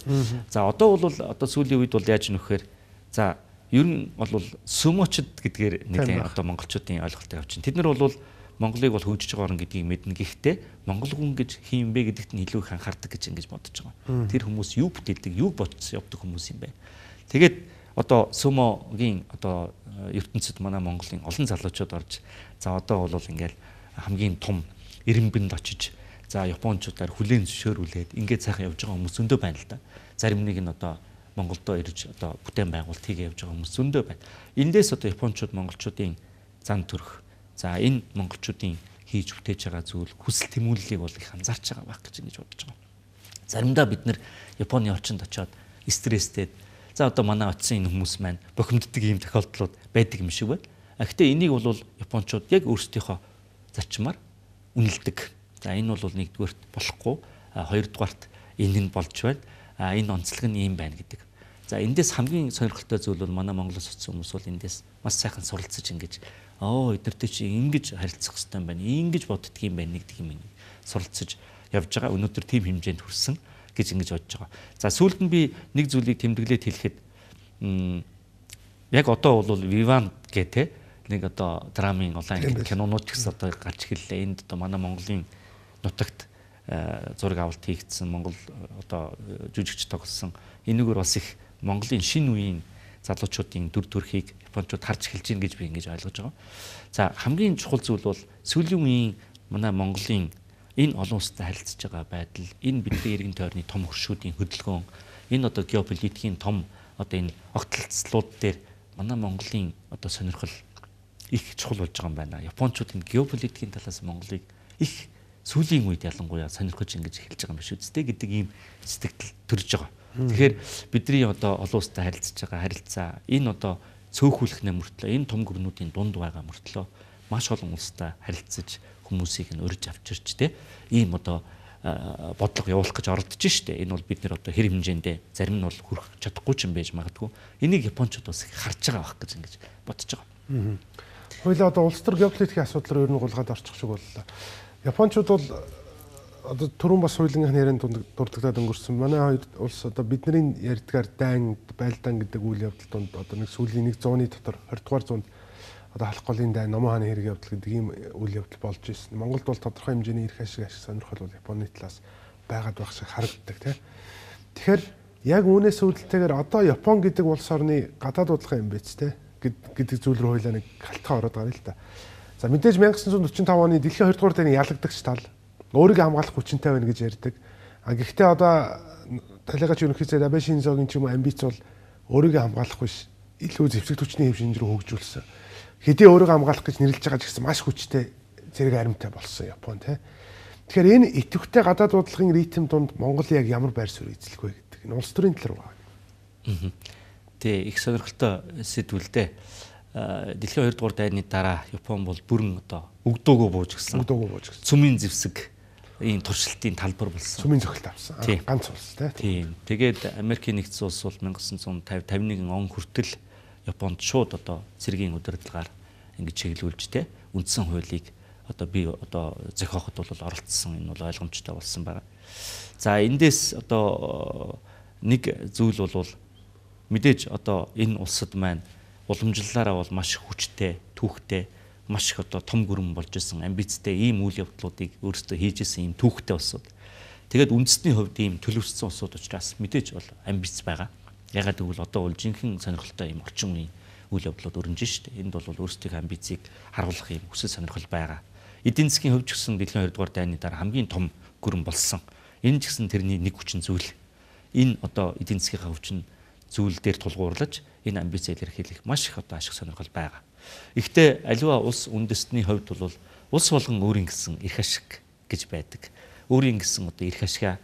За одоо бол одоо сүүлийн үед бол яаж нөхөөр за ер нь бол сүмочд гэдгээр нэлээд одоо монголчуудын ойлголтыг авчин. Тэд нар бол Монголыг бол хөгжиж байгаа орн гэдгийг мэднэ. Гэхдээ монгол хүн гэж хин юм бэ гэдэгт нь илүү их анхаардаг гэж ингэж бодож байгаа. Тэр хүмүүс юу бүтээдэг, юу бодсон явдаг хүмүүс юм бэ. Тэгээд одоо сүмогийн одоо ертөнцид манай Монголын олон залуучууд орж за одоо бол ингээл хамгийн том эренбэнд очиж за японочдоор хүлээн зөвшөөрүүлээд ингээд сайхан явж байгаа хүмүүс зөндөө байна л да. Зарим нэг нь одоо Монголдо ирж одоо бүтээн байгуулалт хийгээ явж байгаа хүмүүс зөндөө байна. Эндээс одоо японочууд монголчуудын зан төрх за энэ монголчуудын хийж бүтээж байгаа зүйл хүсэл тэмүүллийг бол их анзаарч байгаа байх гэж ингэж бодож байгаа. Заримдаа бид нэр Японы орчинд очиод стресстэй за одоо манай очисон энэ хүмүүс маань бохимддаг ийм тохиолдлууд байдаг юм шиг байна. Гэхдээ энийг бол японочууд яг өөрсдийнхөө зарчмаар үнэлдэг. За энэ бол нэгдүгээрт болохгүй, хоёрдугаарт энэ нь болж байна. Энэ онцлог нь ийм байна гэдэг. За эндээс хамгийн сонирхолтой зүйл бол манай Монголоос очсон хүмүүс бол эндээс маш сайхан суралцаж ингэж эднэртэй чи ингэж харилцах хэрэгтэй юм байна. Ингэж боддөг юм байна гэдэг юм суралцаж явж байгаа. Өнөөдөр тийм хэмжээнд хүрсэн гэж ингэж бодож байгаа. За сүүлд нь би нэг зүйлийг тэмдэглээд хэлэхэд яг одоо бол Vivan гэдэг нэг одоо драмын улаан кинонууд ч гэсэн одоо гарч эхэллээ. Энд одоо манай Монголын нутагт зураг авалт хийгдсэн Монгол одоо жүжигч тоглосон энэгээр бас их Монголын шинэ үеийн залуучуудын дүр төрхийг японочууд харж эхэлж байна гэж би ингэж ойлгож байгаа. За хамгийн чухал зүйл бол сүүлийн үеийн манай Монголын энэ олон улстай харилцаж байгаа байдал, энэ бидний иргэн тойрны том хөршүүдийн хөдөлгөөн, энэ одоо геополитикийн том одоо энэ огтлцлууд дээр манай Монголын одоо сонирхол их чухал болж байгаа юм байна. Японочууд энэ геополитикийн талаас Монголыг их сүүлийн үед ялангуяа сонирхож ингэж эхэлж байгаа юм биш үстэй гэдэг ийм сэтгэл төрж байгаа. Тэгэхээр бидний одоо олон улстай харилцаж байгаа харилцаа энэ одоо цөөхүүлэх мөртлөө энэ том гүрнүүдийн дунд байгаа мөртлөө маш олон улстай харилцаж хүмүүсийг нь урьж авчирч те ийм одоо бодлого явуулах гэж оролдож штэ. Энэ бол бид нэр одоо хэр хэмжээндээ зарим нь бол хүрэх чадахгүй ч юм байж магадгүй. Энийг японочууд бас их харж байгаа байх гэж ингэж бодож байгаа. Хоёлаа одоо улс төр геополитикийн асуудлаар ер нь гулгаад орчих шиг боллоо. Японочууд бол одоо түрүүн бас хуулийнхын ярианд дурддагдаад өнгөрсөн. Манай хоёр улс одоо бидний ярьдгаар дайн, байлдаан гэдэг үйл явдал донд одоо нэг сүүлийн 100-ны дотор 20 дугаар зуунд одоо халах голын дайн, номон хааны хэрэг явдал гэдэг ийм үйл явдал болж ирсэн. Монголд бол тодорхой хэмжээний эрх ашиг сонирхол бол Японы талаас байгаад байх шиг харагддаг тийм. Тэгэхээр яг үүнээс үүдэлтэйгээр одоо Япон гэдэг улс орны гадаад бодлого юм биз тийм гэдэг зүйл рүү хойлоо нэг халтгаа ороод байгаа л да. За мэдээж 1945 оны дэлхийн 2 дугаар дайны ялагдагч тал өөрийгөө хамгаалах хүчинтэй байна гэж ярьдаг. Гэхдээ одоо талигаач ерөнхий сайд Абе Шинзогийн ч юм уу амбиц бол өөрийгөө хамгаалах биш, илүү зэвсэг түвшний хэв шинж рүү хөгжүүлсэн. Хэдий өөрийгөө хамгаалах гэж нэрлэж байгаа ч гэсэн маш хүчтэй зэрэг аримтай болсон Япон тийм. Тэгэхээр энэ идэвхтэй гадаад бодлогын ритм донд Монгол яг ямар байр суурь эзлэх вэ гэдэг энэ улс төрийн тал руу байна. Тэг их сонирхолтой сэдвүүлдэ. Дэлхийн 2 дугаар дайны дараа Япон бол бүрэн одоо өгдөөгөө бууж гисэн. Цүмийн зэвсэг ийм туршилтын талбар болсон. Цүмийн зохилт авсан. Ганц улс тийм. Тэгээд Америкийн нэгдсэн улс бол 1950-51 он хүртэл Японд шууд одоо цэргийн удирдлагаар ингэж чиглүүлж тэ үндсэн хуулийг одоо би одоо зохиоход бол оролцсон. Энэ бол ойлгомжтой болсон байна. За эндээс одоо нэг зүйл бол мэдээж одоо энэ улсад маань уламжлалаараа бол маш хүчтэй, түүхтэй, маш их одоо том гүрэн болж исэн, амбицтай ийм үйл явдлуудыг өөрсдөө хийж исэн ийм түүхтэй улсууд. Тэгээд үндэсний хувьд ийм төлөвшсөн улсууд учраас мэдээж бол амбиц байгаа. Ягаад гэвэл одоо бол жинхэнэ сонирхолтой ийм орчин үеийн үйл явдлууд өрнөж штэ. Энд бол өөрсдийн амбицийг харуулах ийм хүсэл сонирхол байгаа. Эдийн засгийн хувьд ч гэсэн дэлхийн 2 дугаар дайны дараа хамгийн том гүрэн болсон. Энэ ч гэсэн тэрний нэг хүчин зүйл. Энэ одоо эдийн засгийн хүчин зүйл дээр тулгуурлаж энэ амбиц илэрхийлэх маш их одоо ашиг сонирхол байгаа. Гэхдээ аливаа улс үндэстний хувьд бол улс болгон өөрийн гэсэн эрх ашиг гэж байдаг. Өөрийн гэсэн одоо эрх ашигаа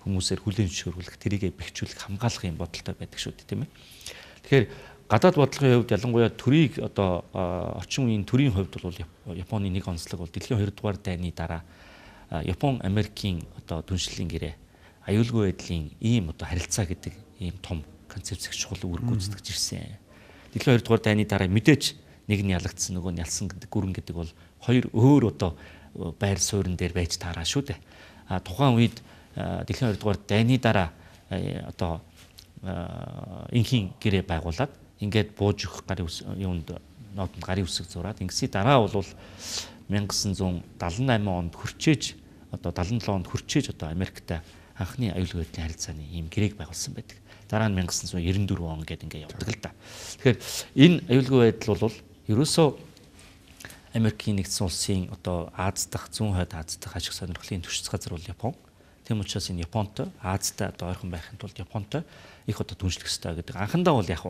хүмүүсээр хүлээн зөвшөөрүүлэх, тэрийгэ бэхжүүлэх, хамгаалах юм бодолтой байдаг шүү дээ, тийм ээ. Тэгэхээр гадаад бодлогын хувьд ялангуяа төрийг одоо орчин үеийн төрийн хувьд бол Японы нэг онцлог бол дэлхийн 2 дугаар дайны дараа Япон Америкийн одоо түншлэлийн гэрээ аюулгүй байдлын ийм одоо харилцаа гэдэг ийм том концепцийг чухал үүрэг гүйцэтгэж ирсэн. Дэлхийн 2 дугаар дайны дараа мэдээж нэг нь ялагдсан, нөгөө нь ялсан гэдэг гүрэн гэдэг бол хоёр өөр одоо байр суурин дээр байж таараа шүү дээ. Тухайн үед дэлхийн 2 дугаар дайны дараа одоо инхийн гэрээ байгуулад ингээд бууж өгөх гарын юунд нотонд гарын үсэг зураад ингэсний дараа бол 1978 онд хүрчээж одоо 77 онд хүрчээж одоо Америктай анхны аюулгүй байдлын харилцааны ийм гэрээг байгуулсан байдаг. Дараа нь 1994 он гэдэг ингээд явдаг л да. Тэгэхээр энэ аюулгүй байдал бол ерөөсөө Америкийн нэгдсэн улсын одоо Аз дахь зүүн хойд Аз дахь ашиг сонирхлын түвшинс газар бол Япон. Тэм учраас энэ Японтой Азтай одоо ойрхон байхын тулд Японтой их одоо түншлэх ёстой гэдэг. Анхандаа бол яг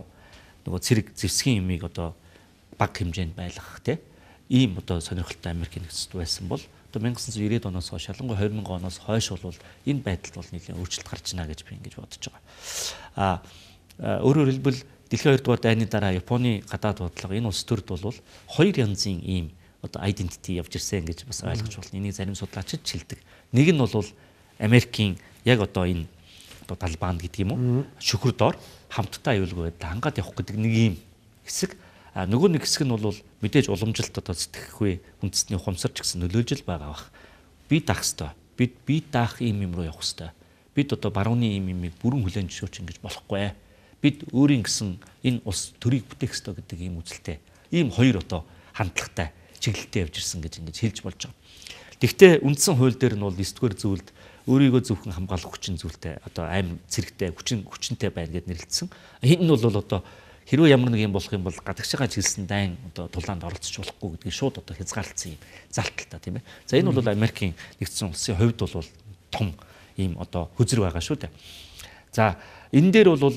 нөгөө цэрэг зэвсгийн юмыг одоо баг хэмжээнд байлгах тийм ийм одоо сонирхолтой Америкийн нэгдсэн байсан бол одоо 1990-ад оноос хойш ялангуяа 2000 оноос хойш бол энэ байдалд бол нэлээд өөрчлөлт гарч ийнэ гэж би ингэж бодож байгаа. Өөрөөр хэлбэл дэлхийн 2 дугаар дайны дараа Японы гадаад бодлого энэ улс төрд бол хоёр янзын ийм одоо identity явж ирсэн гэж бас ойлгож болно. Энийг зарим судлаачид шилдэг. Нэг нь бол Америкийн яг одоо энэ одоо Талбан гэдэг юм уу? Шүхэр доор хамтдаа аюулгүй байдал хангаад явах гэдэг нэг ийм хэсэг. Нөгөө нэг хэсэг нь бол мэдээж уламжилт одоо сэтгэхгүй үндэсний ухамсарч гэсэн нөлөөлж байгаа бах. Би даах хэвээр. Би даах ийм юм руу явах хэвээр. Бид одоо барууны ийм юмыг бүрэн хүлээн зөвшөөрч ингэж болохгүй. Бид өөрийн гэсэн энэ улс төрийг бүтээх ёстой гэдэг ийм үзэлтэй. Ийм хоёр одоо хандлагатай чиглэлтэй явж ирсэн гэж ингэж хэлж болж байгаа. Гэхдээ үндсэн хууль дээр нь бол 9-р зүйлд өөрийгөө зөвхөн хамгаалах хүчин зүйлтэй одоо аим цэрэгтэй хүчинтэй байна гэд нэрлэлсэн. Энэ нь бол одоо хэрвээ ямар нэг юм болох юм бол гадагшаа чиглэсэн дайн одоо тулаанд оролцож болохгүй гэдгийг шууд одоо хязгаарлалцсан юм залталтай тийм ээ. За энэ бол Америкийн нэгдсэн улсын хувьд бол том ийм одоо хөзөр байгаа шүү дээ. За энэ дээр бол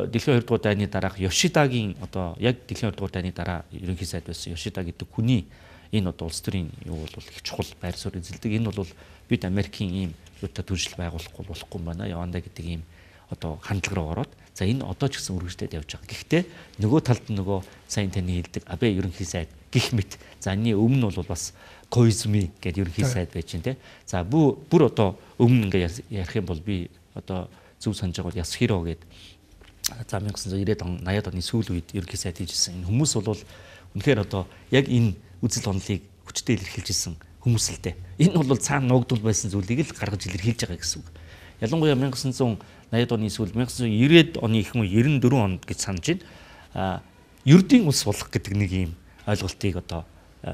дэлхийн 2 дугаар дайны дараах Йошидагийн одоо яг дэлхийн 2 дугаар дайны дараа ерөнхий сайд байсан Йошида гэдэг хүний энэ одоо улс төрийн юу бол их чухал байр суурь эзэлдэг. Энэ бол бид Америкийн ийм юутай түншил байгуулахгүй болохгүй юм байна. Яванда гэдэг ийм одоо хандлага руу ороод за энэ одоо ч гэсэн үргэлжлээд явж байгаа. Гэхдээ нөгөө талд нөгөө сайн таны хэлдэг Абе ерөнхий сайд гих мэт. За энэ өмнө бол бас Коизми гэдэг ерөнхий сайд байж байна те. За бүр одоо өмнө ингээ ярих юм бол би одоо зөв санаж байгаа бол Ясхиро гэдэг за 1990-ад он 80-ад оны сүүл үед ерөнхий сайд хийжсэн. Энэ хүмүүс бол үнэхээр одоо яг энэ үзэл онолыг хүчтэй илэрхийлж исэн хүмүүс л дээ. Энэ бол цаана нуугдвал байсан зүйлийг л гаргаж илэрхийлж байгаа гэсэн үг. Ялангуяа 1980-ад оны эсвэл 1990-ад оны их юм 94 онд гэж санаж байна. Ердийн улс болох гэдэг нэг юм ойлголтыг одоо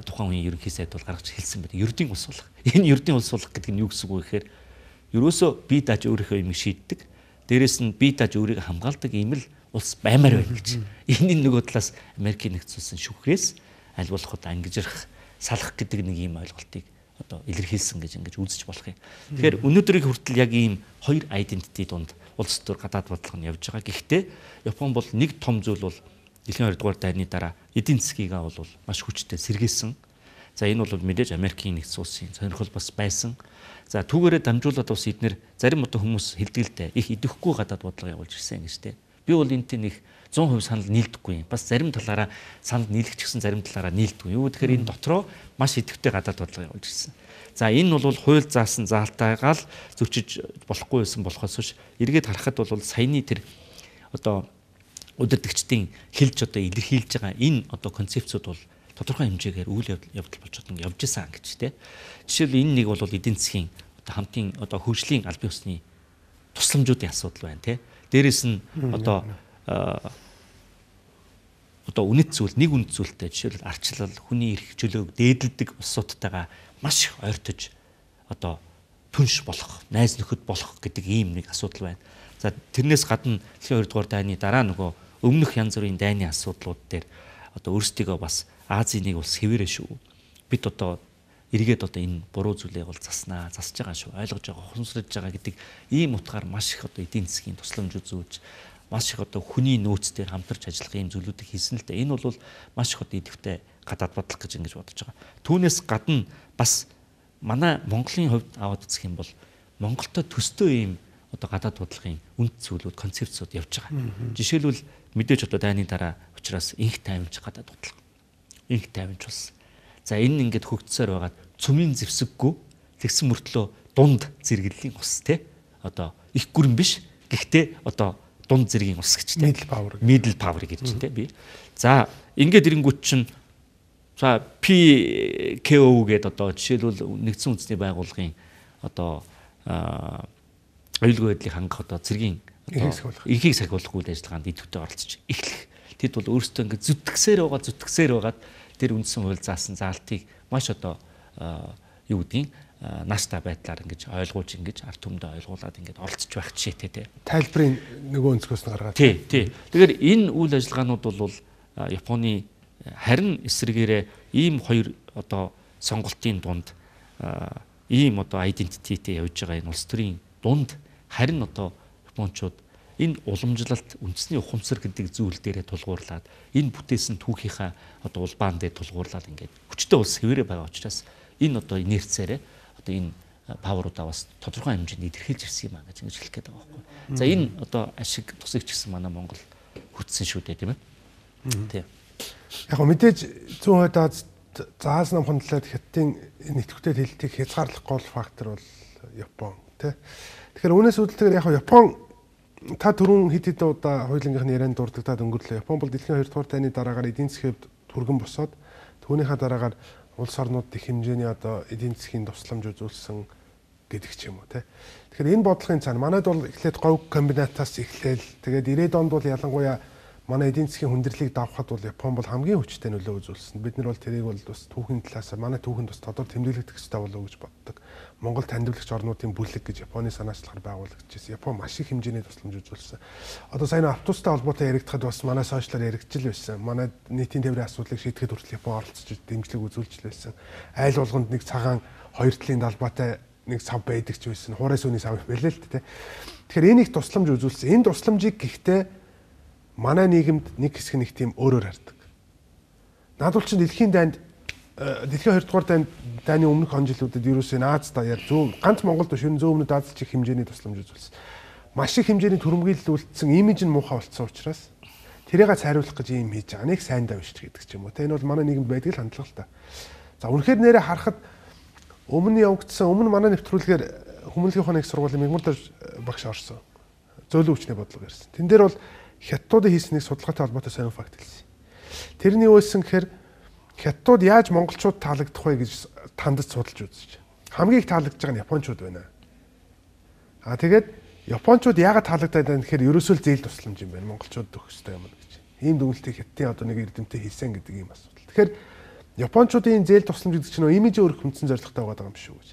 тухайн үеийн ерөнхий сайд бол гаргаж хэлсэн байдаг. Ердийн улс болох. Энэ ердийн улс болох гэдэг нь юу гэсэн үг вэ гэхээр ерөөсөө бие дааж өөрийнхөө юм шийддэг. Дээрээс нь бие дааж өөрийгөө хамгаалдаг ийм л улс баймаар байна гэж. Энийн нөгөө талаас Америкийн нэгдсэн улсын шүүхрээс аль болох одоо ангижрах, салах гэдэг нэг ийм ойлголтыг одоо илэрхийлсэн гэж ингэж үзэж болох юм. Тэгэхээр өнөөдрийг хүртэл яг ийм хоёр identity донд улс төр гадаад бодлого нь явж байгаа. Гэхдээ Япон бол нэг том зүйл бол Дэлхийн 2 дугаар дайны дараа эдийн засгийгаа бол маш хүчтэй сэргээсэн. За энэ бол мэдээж Америкийн нэгдсэн улсын сонирхол бас байсан. За түүгээрээ дамжуулаад бас эднэр зарим одоо хүмүүс хэлдэг л дээ их идэвхгүй гадаад бодлого явуулж ирсэн гэж дээ. Би бол энэтэй нэг 100% санал нийлдэггүй юм. Бас зарим талаараа санал нийлэх гэсэн зарим талаараа нийлдэггүй. Юу гэхээр энэ дотроо маш идэвхтэй гадаад бодлого явуулж ирсэн. За энэ бол хууль заасан заалтайгаа л зөрчиж болохгүй байсан болохоос биш эргээд харахад бол саяны тэр одоо удирдагчдын хэлж одоо илэрхийлж байгаа энэ одоо концепцууд бол тодорхой хэмжээгээр үйл явдал болж явж исэн гэж тийм. Жишээл энэ нэг бол эдийн засгийн одоо хамтын одоо хөгжлийн аль бие усны тусламжуудын асуудал байна тийм. Дээрээс нь одоо үнэт зүйл нэг үнэт зүйлтэй жишээл арчлал хүний эрх чөлөөг дээдэлдэг улсуудтайгаа маш их ойртож одоо түнш болох, найз нөхөд болох гэдэг ийм нэг асуудал байна. За тэрнээс гадна Дэлхийн 2 дугаар дайны дараа нөгөө өмнөх янз бүрийн дайны асуудлууд дээр одоо өөрсдийгөө бас Азийн нэг улс хэвээрээ шүү. Бид одоо эргээд одоо энэ буруу зүйлээ бол заснаа, засж байгаа шүү. Ойлгож байгаа, ухамсарлаж байгаа гэдэг ийм утгаар маш их одоо эдийн засгийн тусламж үзүүлж маш их одоо хүний нөөц дээр хамтарч ажиллах ийм зүйлүүдийг хийсэн л дээ. Энэ бол маш их одоо идэвхтэй гадаад бодлого гэж ингэж бодож байгаа. Түүнээс гадна бас манай Монголын хувьд аваад үзэх юм бол Монголтой төстэй ийм одоо гадаад бодлогын үнд зүйлүүд, концепцууд явж байгаа. Жишээлбэл мэдээж одоо дайны дараа учраас инх тайванч гадаад бодлого. Инх тайванч болсон. За энэ ингээд хөгжсөөр байгаад цөмийн зэвсэггүй тэгсэн мөртлөө дунд зэрэглэлийн ус те одоо их гүрэн биш гэхдээ одоо дунд зэргийн ус гэж те middle power гэж те би. За ингээд ирэнгүүт чинь за PKO гэдэг одоо жишээлбэл нэгдсэн үндэсний байгууллагын одоо аюулгүй байдлыг хангах одоо зэргийн эрхийг сахиулах үйл ажиллагаанд идэвхтэй оролцож эхлэх. Тэд бол өөрсдөө ингээд зүтгэсээр байгаад тэр үндсэн хууль заасан заалтыг маш одоо юу гэдгийг нааштай байдлаар ингэж ойлгуулж ингэж ард түмэндээ ойлгуулад ингэж оролцож байх жишээтэй тий. Тайлбарын нөгөө өнцгөөс нь гаргаад. Тий. Тэгэхээр энэ үйл ажиллагаанууд бол Японы харин эсрэгээрээ ийм хоёр одоо сонголтын дунд ийм одоо identityтэй явж байгаа энэ улс төрийн дунд харин одоо японочууд энэ уламжлалт үндэсний ухамсар гэдэг зүйл дээрээ тулгуурлаад энэ бүтээсэн түүхийнхаа одоо улбаан дээр тулгуурлаад ингээд хүчтэй улс хэвээрээ байгаа учраас энэ одоо инерцээрээ одоо энэ паверуудаа бас тодорхой хэмжээнд илэрхийлж ирсэн юм аа гэж хэлэх гээд байгаа байхгүй. За энэ одоо ашиг тусагч гэсэн манай Монгол хүчсэн шүү дээ тийм ээ. Тийм. Яг мэдээж 100% заас намхан талаад хятадын нэвтгүүдэд хэлтийг хязгаарлах гол фактор бол Япон тий. Тэгэхээр үүнээс үүдэлтэйгээр яг Япон та түрүүн хэд хэд удаа хуулийнхын ярианд дурддагдаад өнгөрлөө. Япон бол Дэлхийн 2 дугаар дайны дараагаар эдийн засгийн түргэн босоод түүнийхээ дараагаар улс орнууд их хэмжээний одоо эдийн засгийн тусламж үзүүлсэн гэдэг ч юм уу тий. Тэгэхээр энэ бодлогын цаана манайд бол эхлээд говь комбинатаас эхлээл тэгээд 90-ад онд бол ялангуяа манай эдийн засгийн хүндрэлийг давхад бол Япон бол хамгийн хүчтэй нөлөө үзүүлсэн. Бид нар бол тэрийг бол бас түүхийн талаас манай түүхэнд бас тодор тэмдэглэгдэх хэрэгтэй болов уу гэж боддог. Монгол таньдуулагч орнуудын бүлэг гэж Японы санаачлахаар байгуулагдчихсэн. Япон маш их хэмжээний тусламж үзүүлсэн. Одоо сайн автобустай холбоотой яригдахад бас манай сошиалаар яригдчихл байсан. Манай нийтийн тээврийн асуудлыг шийдэхэд хүртэл Япон оролцож дэмжлэг үзүүлж байсан. Айл болгонд нэг цагаан хоёр талын далбаатай нэг сав байдаг ч байсан. Хуурай сүний сав байлээ л дээ. Тэгэхээр энийг тусламж үзүүлсэн. Энэ тусламжийг гэхдээ манай нийгэмд нэг хэсэг нэг тийм өөрөөр хардаг. Надад чинь Дэлхийн 2 дугаар дайны өмнөх он жилүүдэд ерөөсөө Аз даяар ганц Монголд биш энэ зүүн өмнөд Аз чих хэмжээний тусламж үзүүлсэн. Маш их хэмжээний түрэмгийлэл үлдсэн имиж нь муухай болцсон учраас тэрийг цайруулах гэж ийм хийж байгаа. Нэг сайн давж гэдэг ч юм уу. Энэ бол манай нийгэмд байдаг л хандлага л та. За үнэхээр нэрээ харахад өмнө явагдсан манай нэвтрүүлгээр хүмүүнлэгийн ухааны их сургуулийн мэгмар багш орсон. Зөөлөн хүчний бодлого ярьсан. Тэн дээр бол Хятадуудын хийснийг судалгаатай холбоотой сонир факт хэлсэн. Тэрний үйлсэн гэхээр Хятадууд яаж монголчууд таалагдах вэ гэж тандаж судалж үзэж. Хамгийн их таалагдж байгаа нь японочууд байна. Тэгээд японочууд яагаад таалагдаад байна гэхээр ерөөсөө л зээл тусламж юм байна. Монголчууд өгөх ёстой юм гэж. Ийм дүгнэлтийг хятадын одоо нэг эрдэмтэд хийсэн гэдэг ийм асуудал. Тэгэхээр японочдын зээл тусламж гэдэг чинь имижээ өөрөх хүндсэн зорилготой байгаа юм шүү гэж.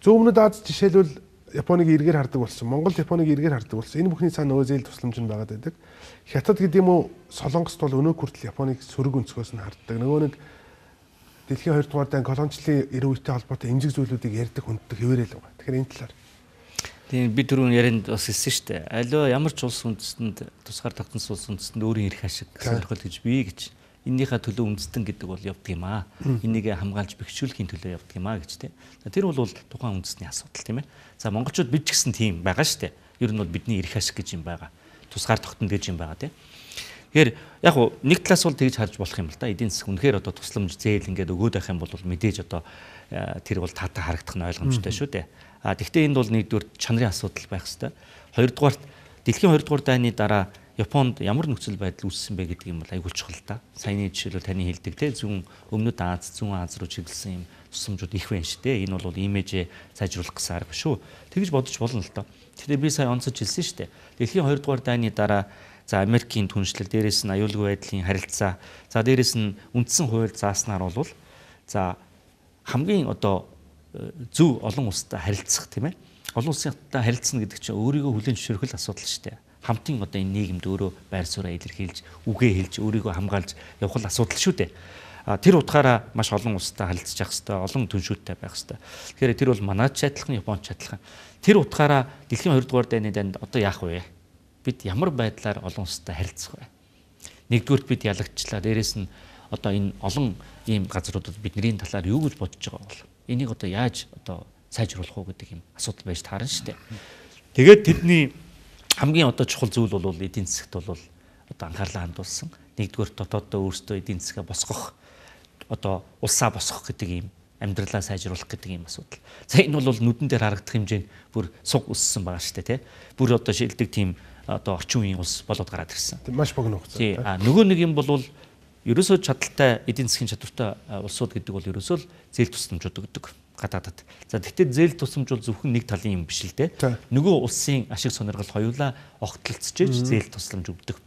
Зөв өмнөд Аз жишээлбэл Японыг эргээр хардаг болсон. Монгол Японыг эргээр хардаг болсон. Энэ бүхний цаана нөгөө зээл тусламж нь байгаад байдаг. Хятад гэдэг юм уу Солонгост бол өнөө хүртэл Японыг сөрөг өнцгөөс нь харддаг. Нөгөө нэг дэлхийн 2 дугаар дан колоничлын эрүү үетэй холбоотой эмзэг зүйлүүдийг ярьдаг хүнддэг хэвээрэл байгаа. Тэгэхээр энэ талаар тийм би түрүүн ярианд бас хэлсэн шүү дээ. Аливаа ямар ч улс үндэстэнд тусгаар тогтносон улс үндэстэнд өөрийн эрх ашиг сонирхол гэж бий гэж эннийхээ төлөө үндэстэн гэдэг бол явдаг юм аа. Энийг хамгаалж бэхжүүлэхийн төлөө явдаг юм аа гэж тийм. Тэр бол тухайн үндэстний асуудал тийм ээ. За монголчууд бид ч гэсэн тийм байгаа шүү дээ. Ер нь бол бидний эрх ашиг гэж юм байгаа. Тусгаар тогтно гэж юм байгаа тийм. Тэгэхээр яг уу нэг талаас бол тэгж харж болох юм л да. Эдийн засаг үнэхээр одоо тусламж зээл ингээд өгөөд байх юм бол мэдээж одоо тэр бол таатай харагдах нь ойлгомжтой шүү дээ. Тэгвэл энд бол нэгдүгээр чанарын асуудал байх хэвээр. Хоёрдугаарт дэлхийн 2 дугаар дайны дараа Японд ямар нөхцөл байдал үүссэн бэ гэдэг юм бол айгүй чухал та. Саяны жишээлбэл таны хэлдэг те зүүн өмнөд Аз, зүүн Аз руу чиглэсэн юм тусламжууд их байна шүү дээ. Энэ бол имижээ сайжруулах гэсэн арга шүү. Тэгж бодож болно л доо. Тэгэхээр би сая онцож хэлсэн шүү дээ. Дэлхийн 2 дугаар дайны дараа за Америкийн түншлэл, дээрээс нь аюулгүй байдлын харилцаа, за дээрээс нь үндсэн хууль зааснаар бол за хамгийн одоо зөв олон улстай харилцах тийм ээ. Олон улстай харилцна гэдэг чинь өөрийгөө хүлээн зөвшөөрөх асуудал шүү дээ. Хамтын одоо энэ нийгэмд өөрөө байр сууриа илэрхийлж, үгээ хэлж, өөрийгөө хамгаалж явах асуудал шүү дээ. Тэр утгаараа маш олон улстай харилцаж явах хэрэгтэй, олон түншүүдтэй байх хэрэгтэй. Тэгэхээр тэр бол манайч адилхан, Японч адилхан. Тэр утгаараа дэлхийн 2 дугаар дайны данд одоо яах вэ? Бид ямар байдлаар олон улстай харилцах вэ? Нэгдүгürt бид ялагчлаа. Дээрээс нь одоо энэ олон ийм газруудад бидний талаар юу гэж бодож байгаа бол энийг одоо яаж одоо сайжруулах уу гэдэг юм асуудал байж таарна шүү дээ. Тэгээд тэдний хамгийн одоо чухал зүйл бол эдийн засагт бол одоо анхаарлаа хандуулсан. Нэгдүгээр дотооддоо өөрсдөө эдийн засгаа босгох одоо улсаа босгох гэдэг юм амьдралаа сайжруулах гэдэг юм асуудал. За энэ бол нүдэн дээр харагдах хэмжээнд бүр суг өссөн байгаа шүү дээ, тэ. Бүр одоо шилдэг тийм одоо орчин үеийн улс болоод гараад ирсэн. Маш богино хугацаа. Тий. Нөгөө нэг юм бол ерөөсөө чадaltaй эдийн засгийн чадвартай улсууд гэдэг бол ерөөсөө л зээл тусламжууд өгдөг гадаадад. За тэгтээ зээл тусламж бол зөвхөн нэг талын юм биш л дээ. Нөгөө улсын ашиг сонирхол хоёулаа огтлцож зээл тусламж өгдөг.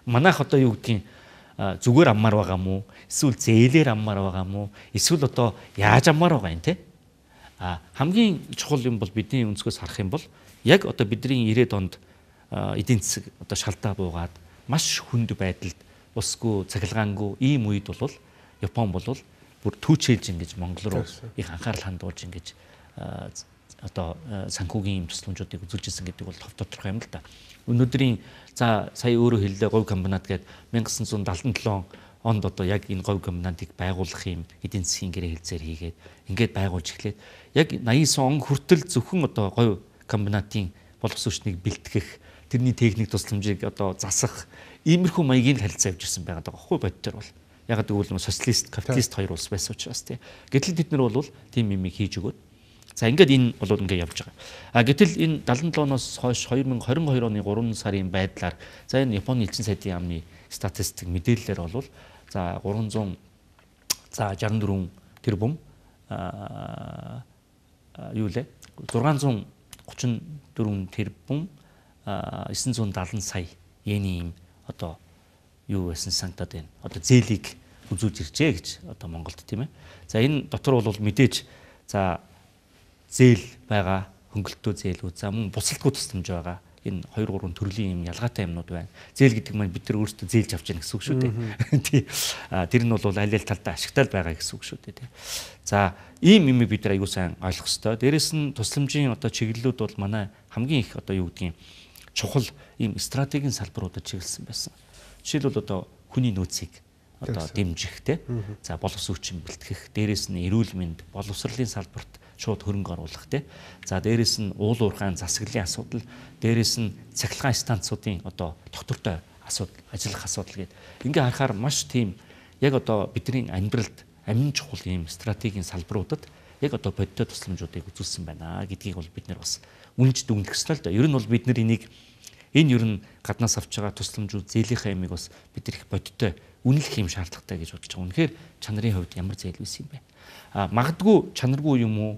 Манайх одоо юу гэдгийг зүгээр аммаар байгаа мó, эсвэл зээлээр аммаар байгаа мó, эсвэл одоо яаж аммаар байгаа юм те. Хамгийн чухал юм бол бидний өнцгөөс харах юм бол яг одоо бидний 90-ад онд эдийн засаг одоо шалдаа буугаад маш хүнд байдалд усгүй цахилгаангүй ийм үед бол Япон бол бүр түүчээлж ингэж Монгол руу их анхаарал хандуулж ингэж одоо санхүүгийн юм тусламжуудыг үзүүлж ирсэн гэдэг бол тодорхой юм л да. Өнөөдрийн за сая өөрөө хэллээ говь комбинат гэдэг 1977 онд одоо яг энэ говь комбинатыг байгуулах юм эдийн засгийн гэрээ хэлцээр хийгээд ингээд байгуулж эхлээд яг 89 он хүртэл зөвхөн одоо говь комбинатын боловсролчныг бэлтгэх тэрний техник тусламжийг одоо засах иймэрхүү маягийн харилцаа явж ирсэн байгаа байхгүй бодтер бол яг гэвэл социалист капиталист хоёр улс байсан учраас тийм. Гэтэл бид нар бол тийм юм хийж өгөөд за ингээд энэ бол ингээд явж байгаа. Гэтэл энэ 77-оос хойш 2022 оны 3 сарын байдлаар за энэ Японы элчин сайдын яамны статистик мэдээллээр бол за 364 тэрбум юу лээ 634 тэрбум 970 сая йений юм одоо юу байсан санагдаад байна. Одоо зээлийг үзүүлж иржээ гэж одоо Монголд тийм ээ. За энэ дотор бол мэдээж за зээл байгаа, хөнгөлтөө зээлүүд, за мөн бусалдгүй тусламж байгаа. Энэ 2 3 төрлийн юм ялгаатай юмнууд байна. Зээл гэдэг маань бид нар өөрсдөө зээлж авч яах гэсэн үг шүү дээ. Тий. Тэр нь бол аль аль талдаа ашигтай байгаа гэсэн үг шүү дээ, тий. За ийм юм бид нар аягүй сайн ойлгох ёстой. Дээрээс нь тусламжийн одоо чиглэлүүд бол манай хамгийн их одоо юу гэдгийг чухал ийм стратегийн салбаруудад чиглэсэн байсан. Жишээлбэл одоо хүний нөөцийг одоо дэмжих те. За боловсролчин бэлтгэх, дээрээс нь эрүүл мэнд, боловсролын салбарт шууд хөрөнгө оруулах те. За дээрээс нь уул уурхайн засаглалын асуудал, дээрээс нь цахилгаан станцуудын одоо доктортой асуудал, ажиллах асуудал гэдэг. Ингээ харахаар маш тийм яг одоо бидний амьдралд амин чухал ийм стратегийн салбаруудад яг одоо бодтой тусламжуудыг үзүүлсэн байна гэдгийг бол бид нар бас үнж дүгнэх ёстой л да. Ер нь бол бид нар энийг энэ ер нь гаднаас авч байгаа тусламжууд зээлийнхаа ямиг бас бид их бодтой үнэлэх юм шаардлагатай гэж бодож байгаа. Үнэхээр чанарын хувьд ямар зээлвэс юм бэ? Магадгүй чанаргүй юм уу?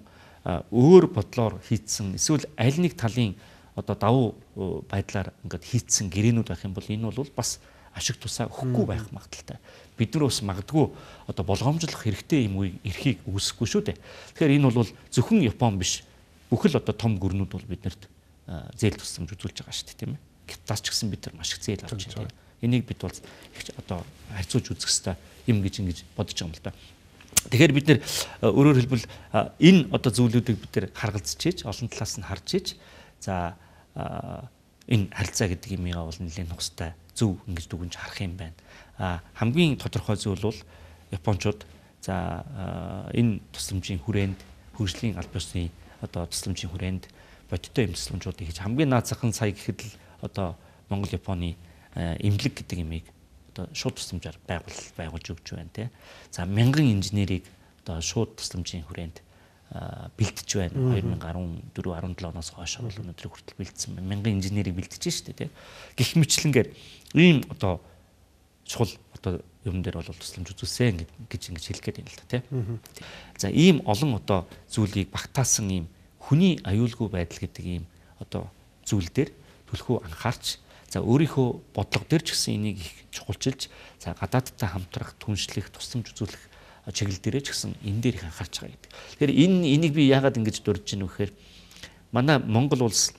Өөр бодлоор хийцэн эсвэл аль нэг талын одоо давуу байдлаар ингээд хийцэн гэрээнүүд байх юм бол энэ бол бас ашиг тусаа өгөхгүй байх магадaltaй. Бид нар бас магадгүй одоо болгоомжлох хэрэгтэй юм уу эрхийг үүсэхгүй шүү дээ. Тэгэхээр энэ бол зөвхөн Япон биш. Бүхэл одоо том гүрнүүд бол биднэрт зээл тусламж үзүүлж байгаа шүү дээ, тийм ээ. Тас ч гэсэн бид нар маш их зээл авч байна. Энийг бид бол одоо харьцуулж үзэх хэрэгтэй юм гэж ингэж бодож байгаа юм л да. Тэгэхээр бид нэр өөрөөр хэлбэл энэ одоо зүйлүүдийг бид нэр харгалзаж ийж олон талаас нь харж ийж за энэ харилцаа гэдэг юмгаа бол нэлээд нухастай зөв ингэж дүгнж харах юм байна. Хамгийн тодорхой зүйл бол Япончууд за энэ тусламжийн хүрээнд хөгжлийн аль ёсны одоо тусламжийн хүрээнд бодиттой юм тусламжуудыг хийж хамгийн наад захын сая гэхэд л одоо Монгол Японы эмнэлэг гэдэг юмыг одоо шууд тусламжаар байгуулж өгч байна тий. За мянган инженерийг одоо шууд тусламжийн хүрээнд бэлтэж байна. 2014-17 оноос хойш бол өнөөдөр хүртэл бэлдсэн байна. Мянган инженерийг бэлтэж штэ тий. Гэх мэтлэнгээр ийм одоо чухал одоо юм дээр бол тусламж үзүүлсэн гэж ингэж хэлэх гээд байна л да тий. За ийм олон одоо зүйлийг багтаасан ийм хүний аюулгүй байдал гэдэг ийм одоо зүйл дээр төлхөө анхаарч за өөрийнхөө бодлого дээр ч гэсэн энийг их чухалчилж за гадаадтай хамтрах, түншлэх, тусламж үзүүлэх чиглэл дээрээ ч гэсэн энэ дээр их анхаарч байгаа гэдэг. Тэгэхээр энийг би яагаад ингэж дурдж байна вэ гэхээр манай Монгол улс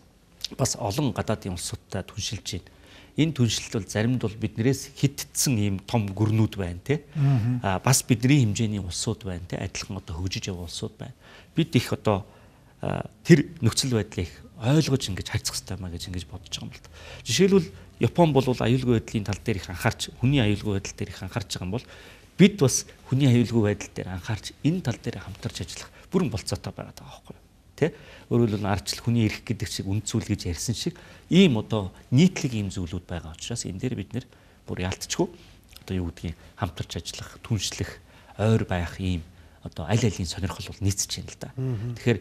бас олон гадаадын улсуудтай түншилж байна. Энэ түншлэлт бол заримд бол биднээс хитцсэн ийм том гүрнүүд байна те. Бас бидний хэмжээний улсууд байна те. Адилхан одоо хөгжиж явах улсууд байна. Бид их одоо тэр нөхцөл байдлыг ойлгож ингэж харьцах хэрэгтэй маа гэж ингэж бодож байгаа юм л да. Жишээлбэл Япон бол аюулгүй байдлын тал дээр их анхаарч, хүний аюулгүй байдал дээр их анхаарч байгаа юм бол бид бас хүний аюулгүй байдал дээр анхаарч энэ тал дээр хамтарч ажиллах бүрэн болцоотой байгаа даа байхгүй юу? Тэ? Өөрөөр хэлбэл ардчил хүний эрх гэдэг шиг үнд зүйл гэж ярьсан шиг ийм одоо нийтлэг ийм зүйлүүд байгаа учраас энэ дээр бид нэр бүр яалтчгүй одоо юу гэдгийг хамтарч ажиллах, түншлэх, ойр байх ийм одоо аль алийн сонирхол бол нийцэж байна л да. Тэгэхээр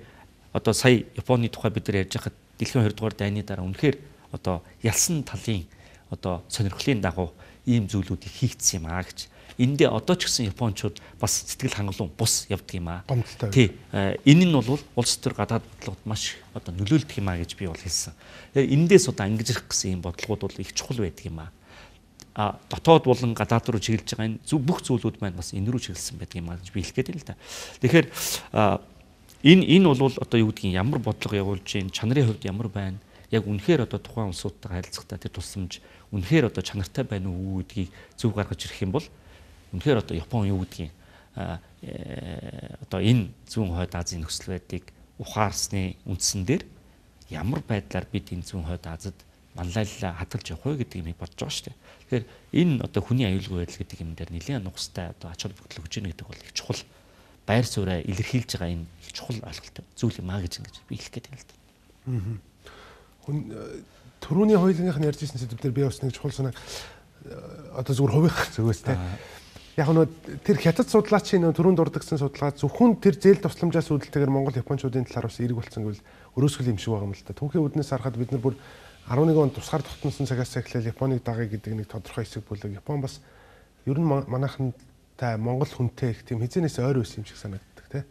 одоо сая Японы тухай бид нар ярьж байхад дэлхийн 2 дугаар дайны дараа үнэхээр одоо ялсан талын одоо сонирхлын дагуу ийм зүйлүүдийг хийгдсэн юм аа гэж. Эндээ одоо ч гэсэн Япончууд бас сэтгэл хангалуун бус явдаг юм аа. Тий. Энэ нь бол улс төр гадаад бодлогод маш одоо нөлөөлдөг юм аа гэж би бол хэлсэн. Эндээс одоо ангижрах гэсэн ийм бодлогууд бол их чухал байдаг юм аа. Дотоод болон гадаад руу чиглэж байгаа энэ бүх зүйлүүд маань бас энэ рүү чиглэсэн байдаг юм аа гэж би хэлэх гээд байна л да. Тэгэхээр энэ бол одоо юу гэдгийг ямар бодлого явуулж гин чанарын хувьд ямар байна? Яг үнэхээр одоо тухайн улсуудтай харилцахдаа тэр тусламж үнэхээр одоо чанартай байна уу гэдгийг зөв гаргаж ирэх юм бол үнэхээр одоо Япон юу гэдгийг одоо энэ зүүн хойд Азийн нөхцөл байдлыг ухаарсны үндсэн дээр ямар байдлаар бид энэ зүүн хойд Азид манлайлалаа хадгалж явах вэ гэдэг юмыг бодож байгаа шүү дээ. Тэгэхээр энэ одоо хүний аюулгүй байдал гэдэг юм дээр нэлээд нухастай одоо ач холбогдол өгч ийн гэдэг бол их чухал байр сууриа илэрхийлж байгаа энэ их чухал ойлголт зүйл юм аа гэж ингэж би хэлэх гээд байна л да. Төрөүний хоёулынх нь ярьж ирсэн зүйлээр би бас нэг чухал санаа одоо зүгээр хувийнх зүгээс те. Яг нь тэр хятад судлаачийн төрөүн дурдгсан судалгаа зөвхөн тэр зээл тусламжаас үүдэлтэйгээр Монгол Япончуудын талаар бас эерэг болсон гэвэл өрөөсгөл юм шиг байгаа юм л да. Түүхийн үднээс харахад бид нар бүр 11 онд тусгаар тогтносон цагаас эхлээл Японыг дагая гэдэг нэг тодорхой хэсэг бүлэг. Япон бас ер нь манайхантай Монгол хүнтэй их тийм хизэнээс ойр байсан юм шиг санагддаг те.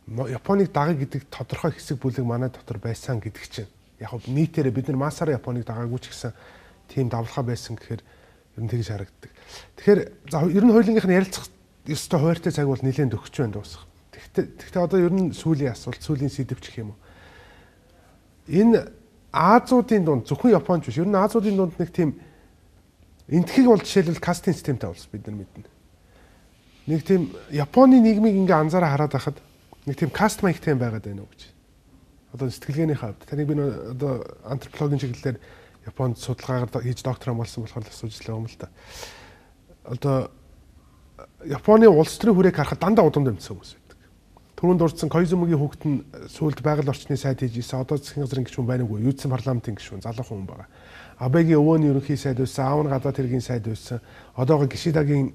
Японыг дагая гэдэг тодорхой хэсэг бүлэг манай дотор байсан гэдэг чинь яг нийтээрээ бид нар масаараа Японыг дагаагүй ч гэсэн тийм давлага байсан гэхээр ер нь тэгж харагддаг. Тэгэхээр за ер нь хоёулынх нь ярилцах ёстой хуваартай цаг бол нэлээд өгч байна дуусах. Гэхдээ одоо ер нь сүүлийн асуулт, сүүлийн сэдв гэх юм уу. Энэ Азиудын дунд зөвхөн Японч биш. Ер нь Азиудын дунд нэг тийм энтхийг бол жишээлбэл кастинг системтэй болсон бид нар мэднэ. Нэг тийм Японы нийгмийг ингээ анзаараа хараад байхад нэг тийм каст маягтай байгаад байна уу гэж. Одоо сэтгэлгээний хавьд таныг би одоо антропологийн чиглэлээр Японд судалгаагаар хийж доктором болсон болохоор асууж лээ юм л та. Одоо Японы улс төрийн хүрээг харахад дандаа удам дэмжсэн хүмүүс байдаг. Түрүүнд дурдсан Коизумигийн хүүхэд нь сүүлд байгаль орчны сайд хийж ийсэн. Одоо засгийн газрын гишүүн байна уу? Юудсан парламентын гишүүн залуухан хүн байгаа. Абегийн өвөөний ерөнхий сайд байсан, аав нь гадаад хэргийн сайд байсан. Одоогоо Гишидагийн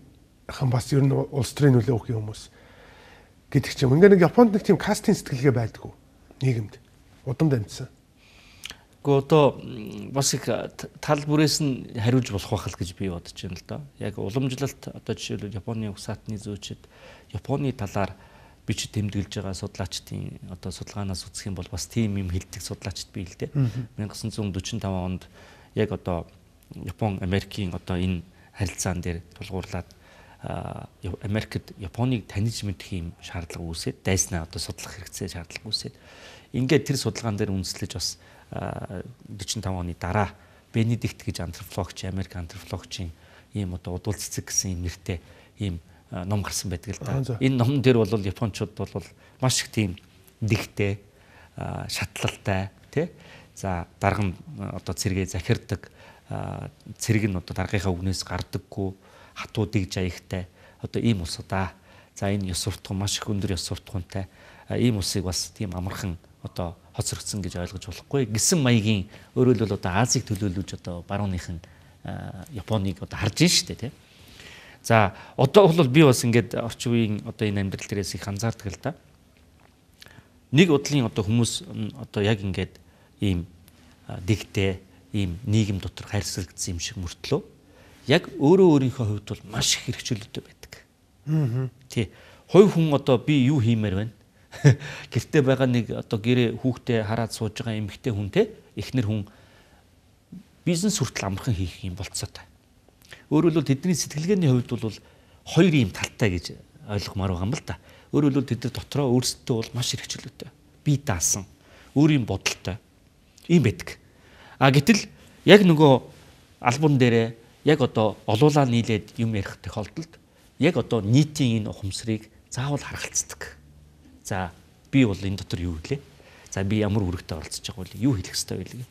хан бас ер нь улс төрийн нөлөө өгөх хүмүүс гэдэг ч юм. Ингээ нэг Японд нэг тийм кастинг сэтгэлгээ байдгүй нийгэмд. Удам дамжсан. Гэхдээ одоо бас их тал бүрээс нь хариулж болох байх л гэж би бодож байна л да. Яг уламжлалт одоо жишээлбэл Японы угсаатны зүйчид Японы талаар бичиж тэмдэглэж байгаа судлаачдын одоо судалгаанаас үзэх юм бол бас тийм юм хэлдэг судлаачд бий л дээ. 1945 онд яг одоо Япон Америкийн одоо энэ харилцаан дээр тулгуурлаад Америкт Японыг таньж мэдэх юм шаардлага үүсээд дайснаа одоо судлах хэрэгцээ шаардлага үүсээд ингээд тэр судалгаан дээр үндэслэж бас 45 оны дараа Бенедикт гэж антропологч, Америк антропологчийн ийм одоо удвал цэцэг гэсэн юм нэртэй ийм ном гарсан байдаг л да. Энэ номон дээр бол Япончууд бол маш их тийм дэгтэй, шатлалтай тий. За дарга нь одоо цэргээ захирдаг, цэрэг нь одоо даргынхаа үгнээс гардаггүй, хатуу дэгж аягтай одоо ийм улс удаа. За энэ ёс суртахуун маш их өндөр ёс суртахуунтай ийм улсыг бас тийм амархан одоо хоцрогдсон гэж ойлгож болохгүй. Гисэн маягийн өөрөөр хэлбэл одоо Азийг төлөөлөж одоо барууныхан Японыг одоо харж ин штэ тий. За одоо бол би бас ингээд орчин үеийн одоо энэ амьдрал дээрээс их анзаардаг л да. Нэг удлын одоо хүмүүс одоо яг ингээд ийм дэгтэй ийм нийгэм дотор хайрцагцсан юм шиг мөртлөө яг өөрөө өөрийнхөө хувьд бол маш их хэрэгчлөлттэй байдаг. Тий. Хувь хүн одоо би юу хиймээр байна? Гэртээ байгаа нэг одоо гэрээ хүүхдээ хараад сууж байгаа эмэгтэй хүнтэй эхнэр хүн бизнес хүртэл амархан хийх юм болцоотой. Өөрөөр хэлбэл тэдний сэтгэлгээний хувьд бол хоёр юм талтай гэж ойлгомоор байгаа юм л да. Өөрөөр хэлбэл тэд нар дотроо өөрсдөө бол маш хэрэгчлөөтэй. Бие даасан, өөрийн бодолтой ийм байдаг. Гэтэл яг нөгөө албан дээрээ яг одоо олуулаа нийлээд юм ярих тохиолдолд яг одоо нийтийн энэ ухамсарыг заавал харгалцдаг. За би бол энэ дотор юу хэлээ? За би ямар үүрэгтэй оролцож байгаа вэ? Юу хэлэх ёстой вэ?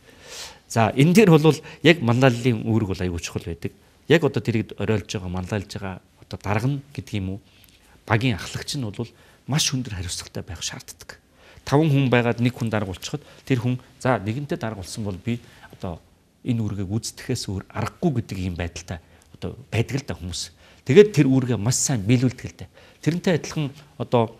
За энэ дээр бол яг манлайллын үүрэг бол аюул чухал байдаг. Яг одоо тэрийг оройлж байгаа, манлайлж байгаа одоо дарга нь гэдэг юм уу? Багийн ахлагч нь бол маш өндөр хариуцлагатай байх шаарддаг. 5 хүн байгаад нэг хүн дарга болчиход тэр хүн за нэгэнтээ дарга болсон бол би одоо энэ үүргийг үздэхээс өөр аргагүй гэдэг юм байдалтай одоо байдаг л да хүмүүс. Тэгээд тэр үүргээ маш сайн биелүүлдэг л дээ. Тэрнтэй адилхан одоо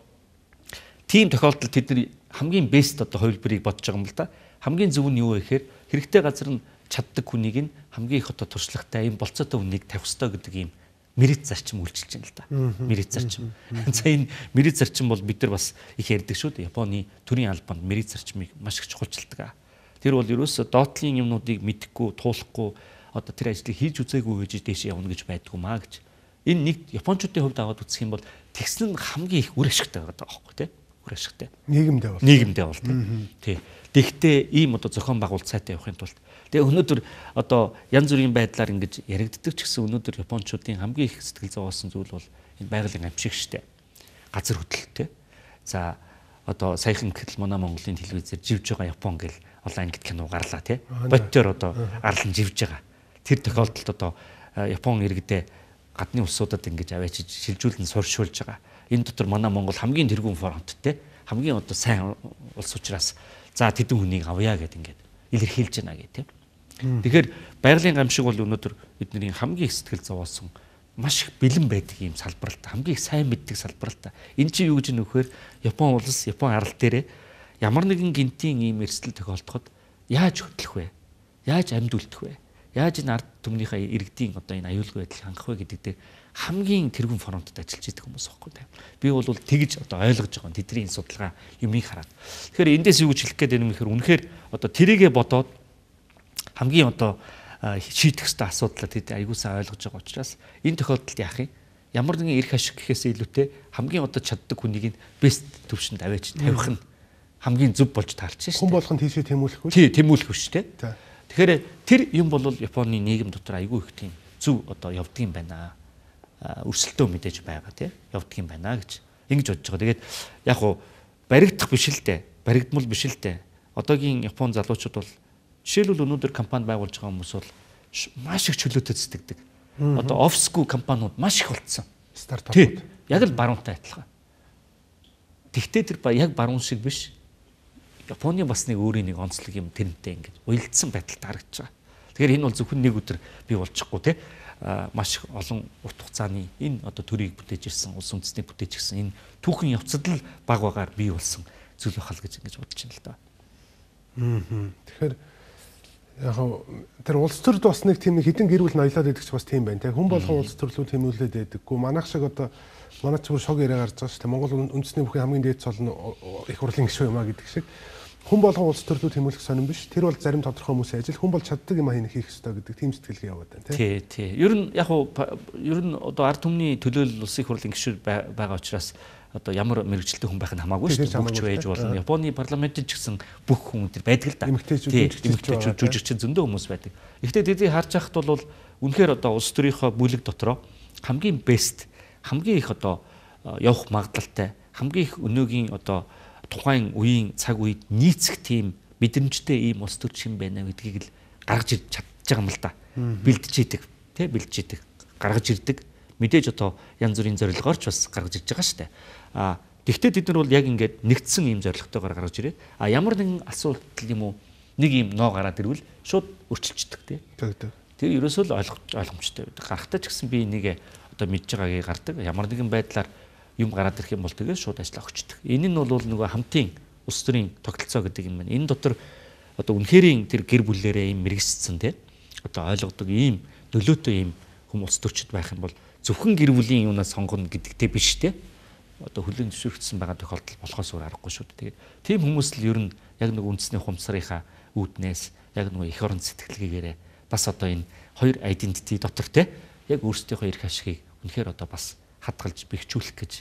тийм тохиолдолд тэд нар хамгийн бест одоо хувилбарыг бодож байгаа юм л да. Хамгийн зөв нь юу вэ гэхээр хэрэгтэй газар нь чаддаг хүнийг нь хамгийн их одоо туршлагатай юм болцоотой хүнийг тавих ёстой гэдэг юм мэрит зарчим үйлчилж байна л да. Мэрит зарчим. За энэ мэрит зарчим бол бид нар бас их ярьдаг шүү дээ. Японы төрийн албанд мэрит зарчмыг маш их чухалчилдаг. Тэр бол ерөөсө доотлын юмнуудыг мэдэхгүй, туулахгүй одоо тэр ажлыг хийж үзээгүй гэж дээш явна гэж байдгүй маа гэж. Энэ нэг японочдын хувьд аваад үзэх юм бол тэгсэн нь хамгийн их үр ашигтай байгаа байхгүй тий. Үр ашигтай. Нийгэмдээ бол тий. Тэгтээ ийм одоо зохион байгуулалт сайтай явахын тулд тэгээ өнөөдөр одоо янз бүрийн байдлаар ингэж яригддаг ч гэсэн өнөөдөр японочдын хамгийн их сэтгэл зовоосон зүйл бол энэ байгалийн амжиг штэ. Газар хөдлөлттэй. За одоо саяхан гэтэл манай Монголын телевизээр живж байгаа Япон гэл олон ангид кино гарлаа тий. Бодтоор одоо арлан живж байгаа. Тэр тохиолдолд одоо Япон иргэдээ гадны улсуудад ингэж аваачиж шилжүүлэн суршуулж байгаа. Энэ дотор манай Монгол хамгийн тэргүүн фронттэй хамгийн одоо сайн улс учраас за тэдэн хүнийг авъя гэд ингээд илэрхийлж байна гэх тийм. Тэгэхээр байгалийн гамшиг бол өнөөдөр бидний хамгийн их сэтгэл зовоосон маш их бэлэн байдаг юм салбаралтай хамгийн их сайн мэддэг салбаралтай. Энэ чинь юу гэж нөхөр Япон улс Япон арал дээрээ ямар нэгэн гинтийн ийм эрсдэл тохиолдоход яаж хөдлөх вэ? Яаж амьд үлдэх вэ? Яаж энэ ард түмнийхээ иргэдийн одоо энэ аюулгүй байдлыг хангах вэ гэдэг дээр хамгийн тэргүүн фронтод ажиллаж идэг хүмүүс байхгүй тийм. Би бол тэгж одоо ойлгож байгаа тэдний судалгаа юмыг хараад. Тэгэхээр эндээс юу гэж хэлэх гээд байна вэ гэхээр үнэхээр одоо тэрийгэ бодоод хамгийн одоо шийдэх ёстой асуудлаа тэд аягүй сайн ойлгож байгаа учраас энэ тохиолдолд яах юм? Ямар нэгэн эрх ашиг гэхээс илүүтэй хамгийн одоо чаддаг хүнийг нь бест төвшөнд аваач тавих нь хамгийн зөв болж таарч шээ. Хүн болгонд тийшээ тэмүүлэхгүй. Тий, тэмүүлэх биш тий. Тэгэхээр тэр юм бол Японы нийгэм дотор аягүй их тийм зөв одоо явдгийм байна. Өрсөлдөө мэдээж байгаа тий. Явдгийм байна гэж ингэж бодож байгаа. Тэгээд яг уу баригдах биш л дээ. Баригдмал биш л дээ. Одоогийн Япон залуучууд бол жишээлбэл өнөөдөр компани байгуулж байгаа хүмүүс бол маш их чөлөөтэй цэцдэг. Одоо офисгүй компаниуд маш их болцсон. Стартапууд. Яг л баруунтай адилхан. Тэгтээ тэр яг баруун шиг биш. Японы бас нэг өөрийн нэг онцлог юм тэрнтэй ингэж уялдсан байдалд харагдаж байгаа. Тэгэхээр энэ бол зөвхөн нэг өдөр бий болчихгүй тий. Маш олон урт хугацааны энэ одоо төрийг бүтээж ирсэн, улс үндэстнийг бүтээж ирсэн энэ түүхэн явцад л баг багаар бий болсон зүйл байхал гэж ингэж бодож байна л да. Тэгэхээр Яг тэр улс төрд бас нэг тийм хідэн гэр бүл ноёлоод байдаг ч бас тийм байна. Хүн болгон улс төрлөө тэмүүлээд байдаггүй. Манайх шиг одоо манай ч бүр шог яриа гарч байгаа шүү дээ. Монгол үндэсний бүхэн хамгийн дээд цол нь их хурлын гишүүн юм а гэдэг шиг. Хүн болгон улс төрлөө тэмүүлэх сонирн биш. Тэр бол зарим тодорхой хүмүүсийн ажил. Хүн бол чаддаг юм хийх ёстой гэдэг тийм сэтгэлгээ яваад байна тий. Ер нь одоо ард түмний төлөөлөл улсын хурлын гишүүн байгаа учраас одоо ямар мэрэгчлээ хүн байх нь хамаагүй шүү дээ. Бүгч байж болно. Японы парламентд ч гэсэн бүх хүн тэр байдаг л да. Эмэгтэйчүүд жүжигчин зөндөө хүмүүс байдаг. Гэхдээ тэдийг харж байхад бол үнэхээр одоо улс төрийнхөө бүлэг дотроо хамгийн бест, хамгийн их одоо явах магадлалтай, хамгийн их өнөөгийн одоо тухайн үеийн цаг үед нийцэх тийм мэдрэмжтэй ийм улс төр шин байна гэдгийг л гаргаж ирж чадж байгаа юм л да. Бэлдэж идэг, тий бэлдэж идэг, гаргаж ирдэг. Мэдээж одоо янз бүрийн зорилгоор ч бас гаргаж ирж байгаа шүү дээ. Тэгвэл бид нар бол яг ингээд нэгдсэн ийм зорилготойгоор гаргаж ирээ. Ямар нэгэн асуудал юм уу нэг ийм ноо гараад ирвэл шууд өөрчилчдөг тий. Тэр ерөөсөө л ойлгомжтой байдаг. Гарахтаа ч гэсэн би энийг одоо мэдж байгаагийг гардаг. Ямар нэгэн байдлаар юм гараад ирэх юм бол тэгээд шууд ажиллаа өгчдөг. Энэ нь бол нөгөө хамтын улс төрийн тогтолцоо гэдэг юм байна. Энэ дотор одоо үнэхэрийн тэр гэр бүлээрээ ийм мэрэгсцэн тий. Одоо ойлгодог ийм нөлөөтэй ийм хүмүүс төрчд байх юм бол зөвхөн гэр бүлийн юунаас сонгоно гэдэгтэй биш те. Одоо хүлээн зөвшөөрөгдсөн байгаа тохиолдол болохоос өөр аргагүй шүү дээ. Тэгээд тийм хүмүүс л ер нь яг нэг үндэсний ухамсарынхаа үүднээс яг нэг эх орон сэтгэлгээгээрээ бас одоо энэ хоёр айдентити дотор те яг өөрсдийнхөө эрх ашигыг үнэхээр одоо бас хадгалж бэхжүүлэх гэж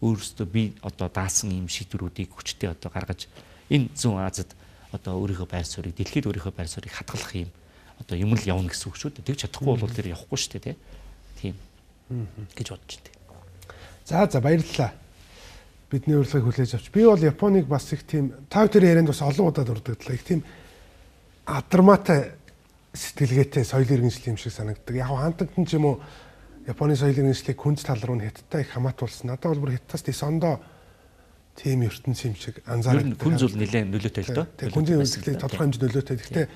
өөрсдөө би одоо даасан ийм шийдвэрүүдийг хүчтэй одоо гаргаж энэ зүүн Азад одоо өөрийнхөө байр суурийг дэлхийд өөрийнхөө байр суурийг хадгалах юм одоо юм л явна гэсэн үг шүү дээ. Тэгж чадахгүй бол тэр явахгүй шүү дээ те. Тийм гэж бодож байна. За баярлалаа. Бидний урилгыг хүлээж авч. Би бол Японыг бас их тийм тав тэр ярианд бас олон удаа дурддаг. Их тийм адармаатай сэтгэлгээтэй соёл иргэншил юм шиг санагддаг. Яг хантагтан ч юм уу Японы соёл иргэншлийг күнз тал руу хятадтай их хамаатуулсан. Надад бол бүр хятадас Исондо тийм ертөнц юм шиг анзаардаг. Күнз бол нэлээд нөлөөтэй л доо. Тэгээ күнзийн үйлчлэгийг тодорхой хэмжээнд нөлөөтэй. Гэхдээ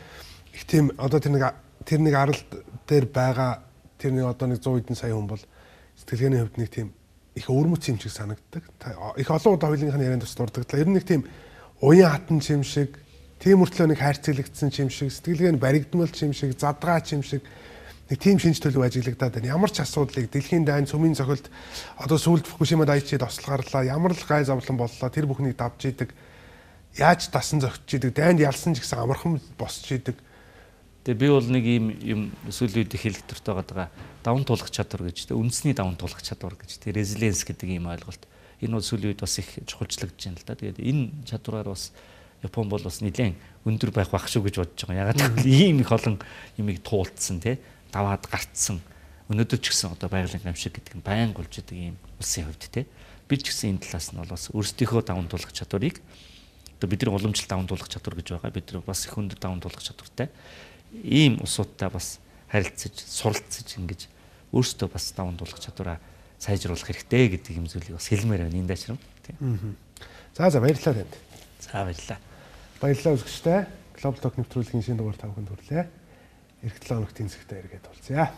их тийм одоо тэр нэг аралд дээр байгаа тэр нэг одоо нэг 100 хэдэн сая хүн бол сэтгэлгээний хувьд нэг тийм их өвөрмөц юм шиг санагддаг. Их олон удаа хоёулынхаа ярианд бас дурддаг. Ер нь нэг тийм уян хатан юм шиг, тийм мөртлөө нэг хайрцаглагдсан юм шиг, сэтгэлгээ нь баригдмал юм шиг, задгаа юм шиг нэг тийм шинж төлөв ажиглагдаад байна. Ямар ч асуудлыг дэлхийн дайн цөмийн цохилд одоо сүүлд Фукушима дайчид ослол гарлаа. Ямар л гай зовлон боллоо. Тэр бүхнийг давж идэг. Яаж дасан зөгчж идэг. Дайнд ялсан ч гэсэн амархан босч идэг. Тэгээ би бол нэг юм сүүлийн үед хэлэх төртөө байгаа даван туулах чадвар гэж тэ үндэсний даван туулах чадвар гэж тэ резилиенс гэдэг ийм ойлголт. Энэ бол сүүлийн үед бас их чухалчлагдж байна л да. Тэгээд энэ чадвараар бас Япон бол бас нэлээд өндөр байх байх шүү гэж бодож байгаа. Ягаад гэвэл ийм их олон юмыг туулцсан тэ даваад гарцсан. Өнөөдөр ч гэсэн одоо байгалийн гамшиг гэдэг нь байн болж идэг ийм улсын хувьд тэ. Бид ч гэсэн энэ талаас нь бол бас өөрсдийнхөө даван туулах чадварыг одоо бидний уламжлалт даван туулах чадвар гэж байгаа. Бид бас их өндөр даван туулах чадвартай. Ийм улсуудтай бас харилцаж, суралцаж ингэж өөрсдөө бас даван туулах чадвараа сайжруулах хэрэгтэй гэдэг юм зүйлийг бас хэлмээр байна энэ дэшрам. Тийм. За баярлалаа танд. За баярлалаа. Баярлалаа үзэгчтэй. Global Talk нэвтрүүлгийн шинэ дугаар та бүхэнд хүрлээ. Эх 7 өнөختийн зэгтээ эргээд уулзъя.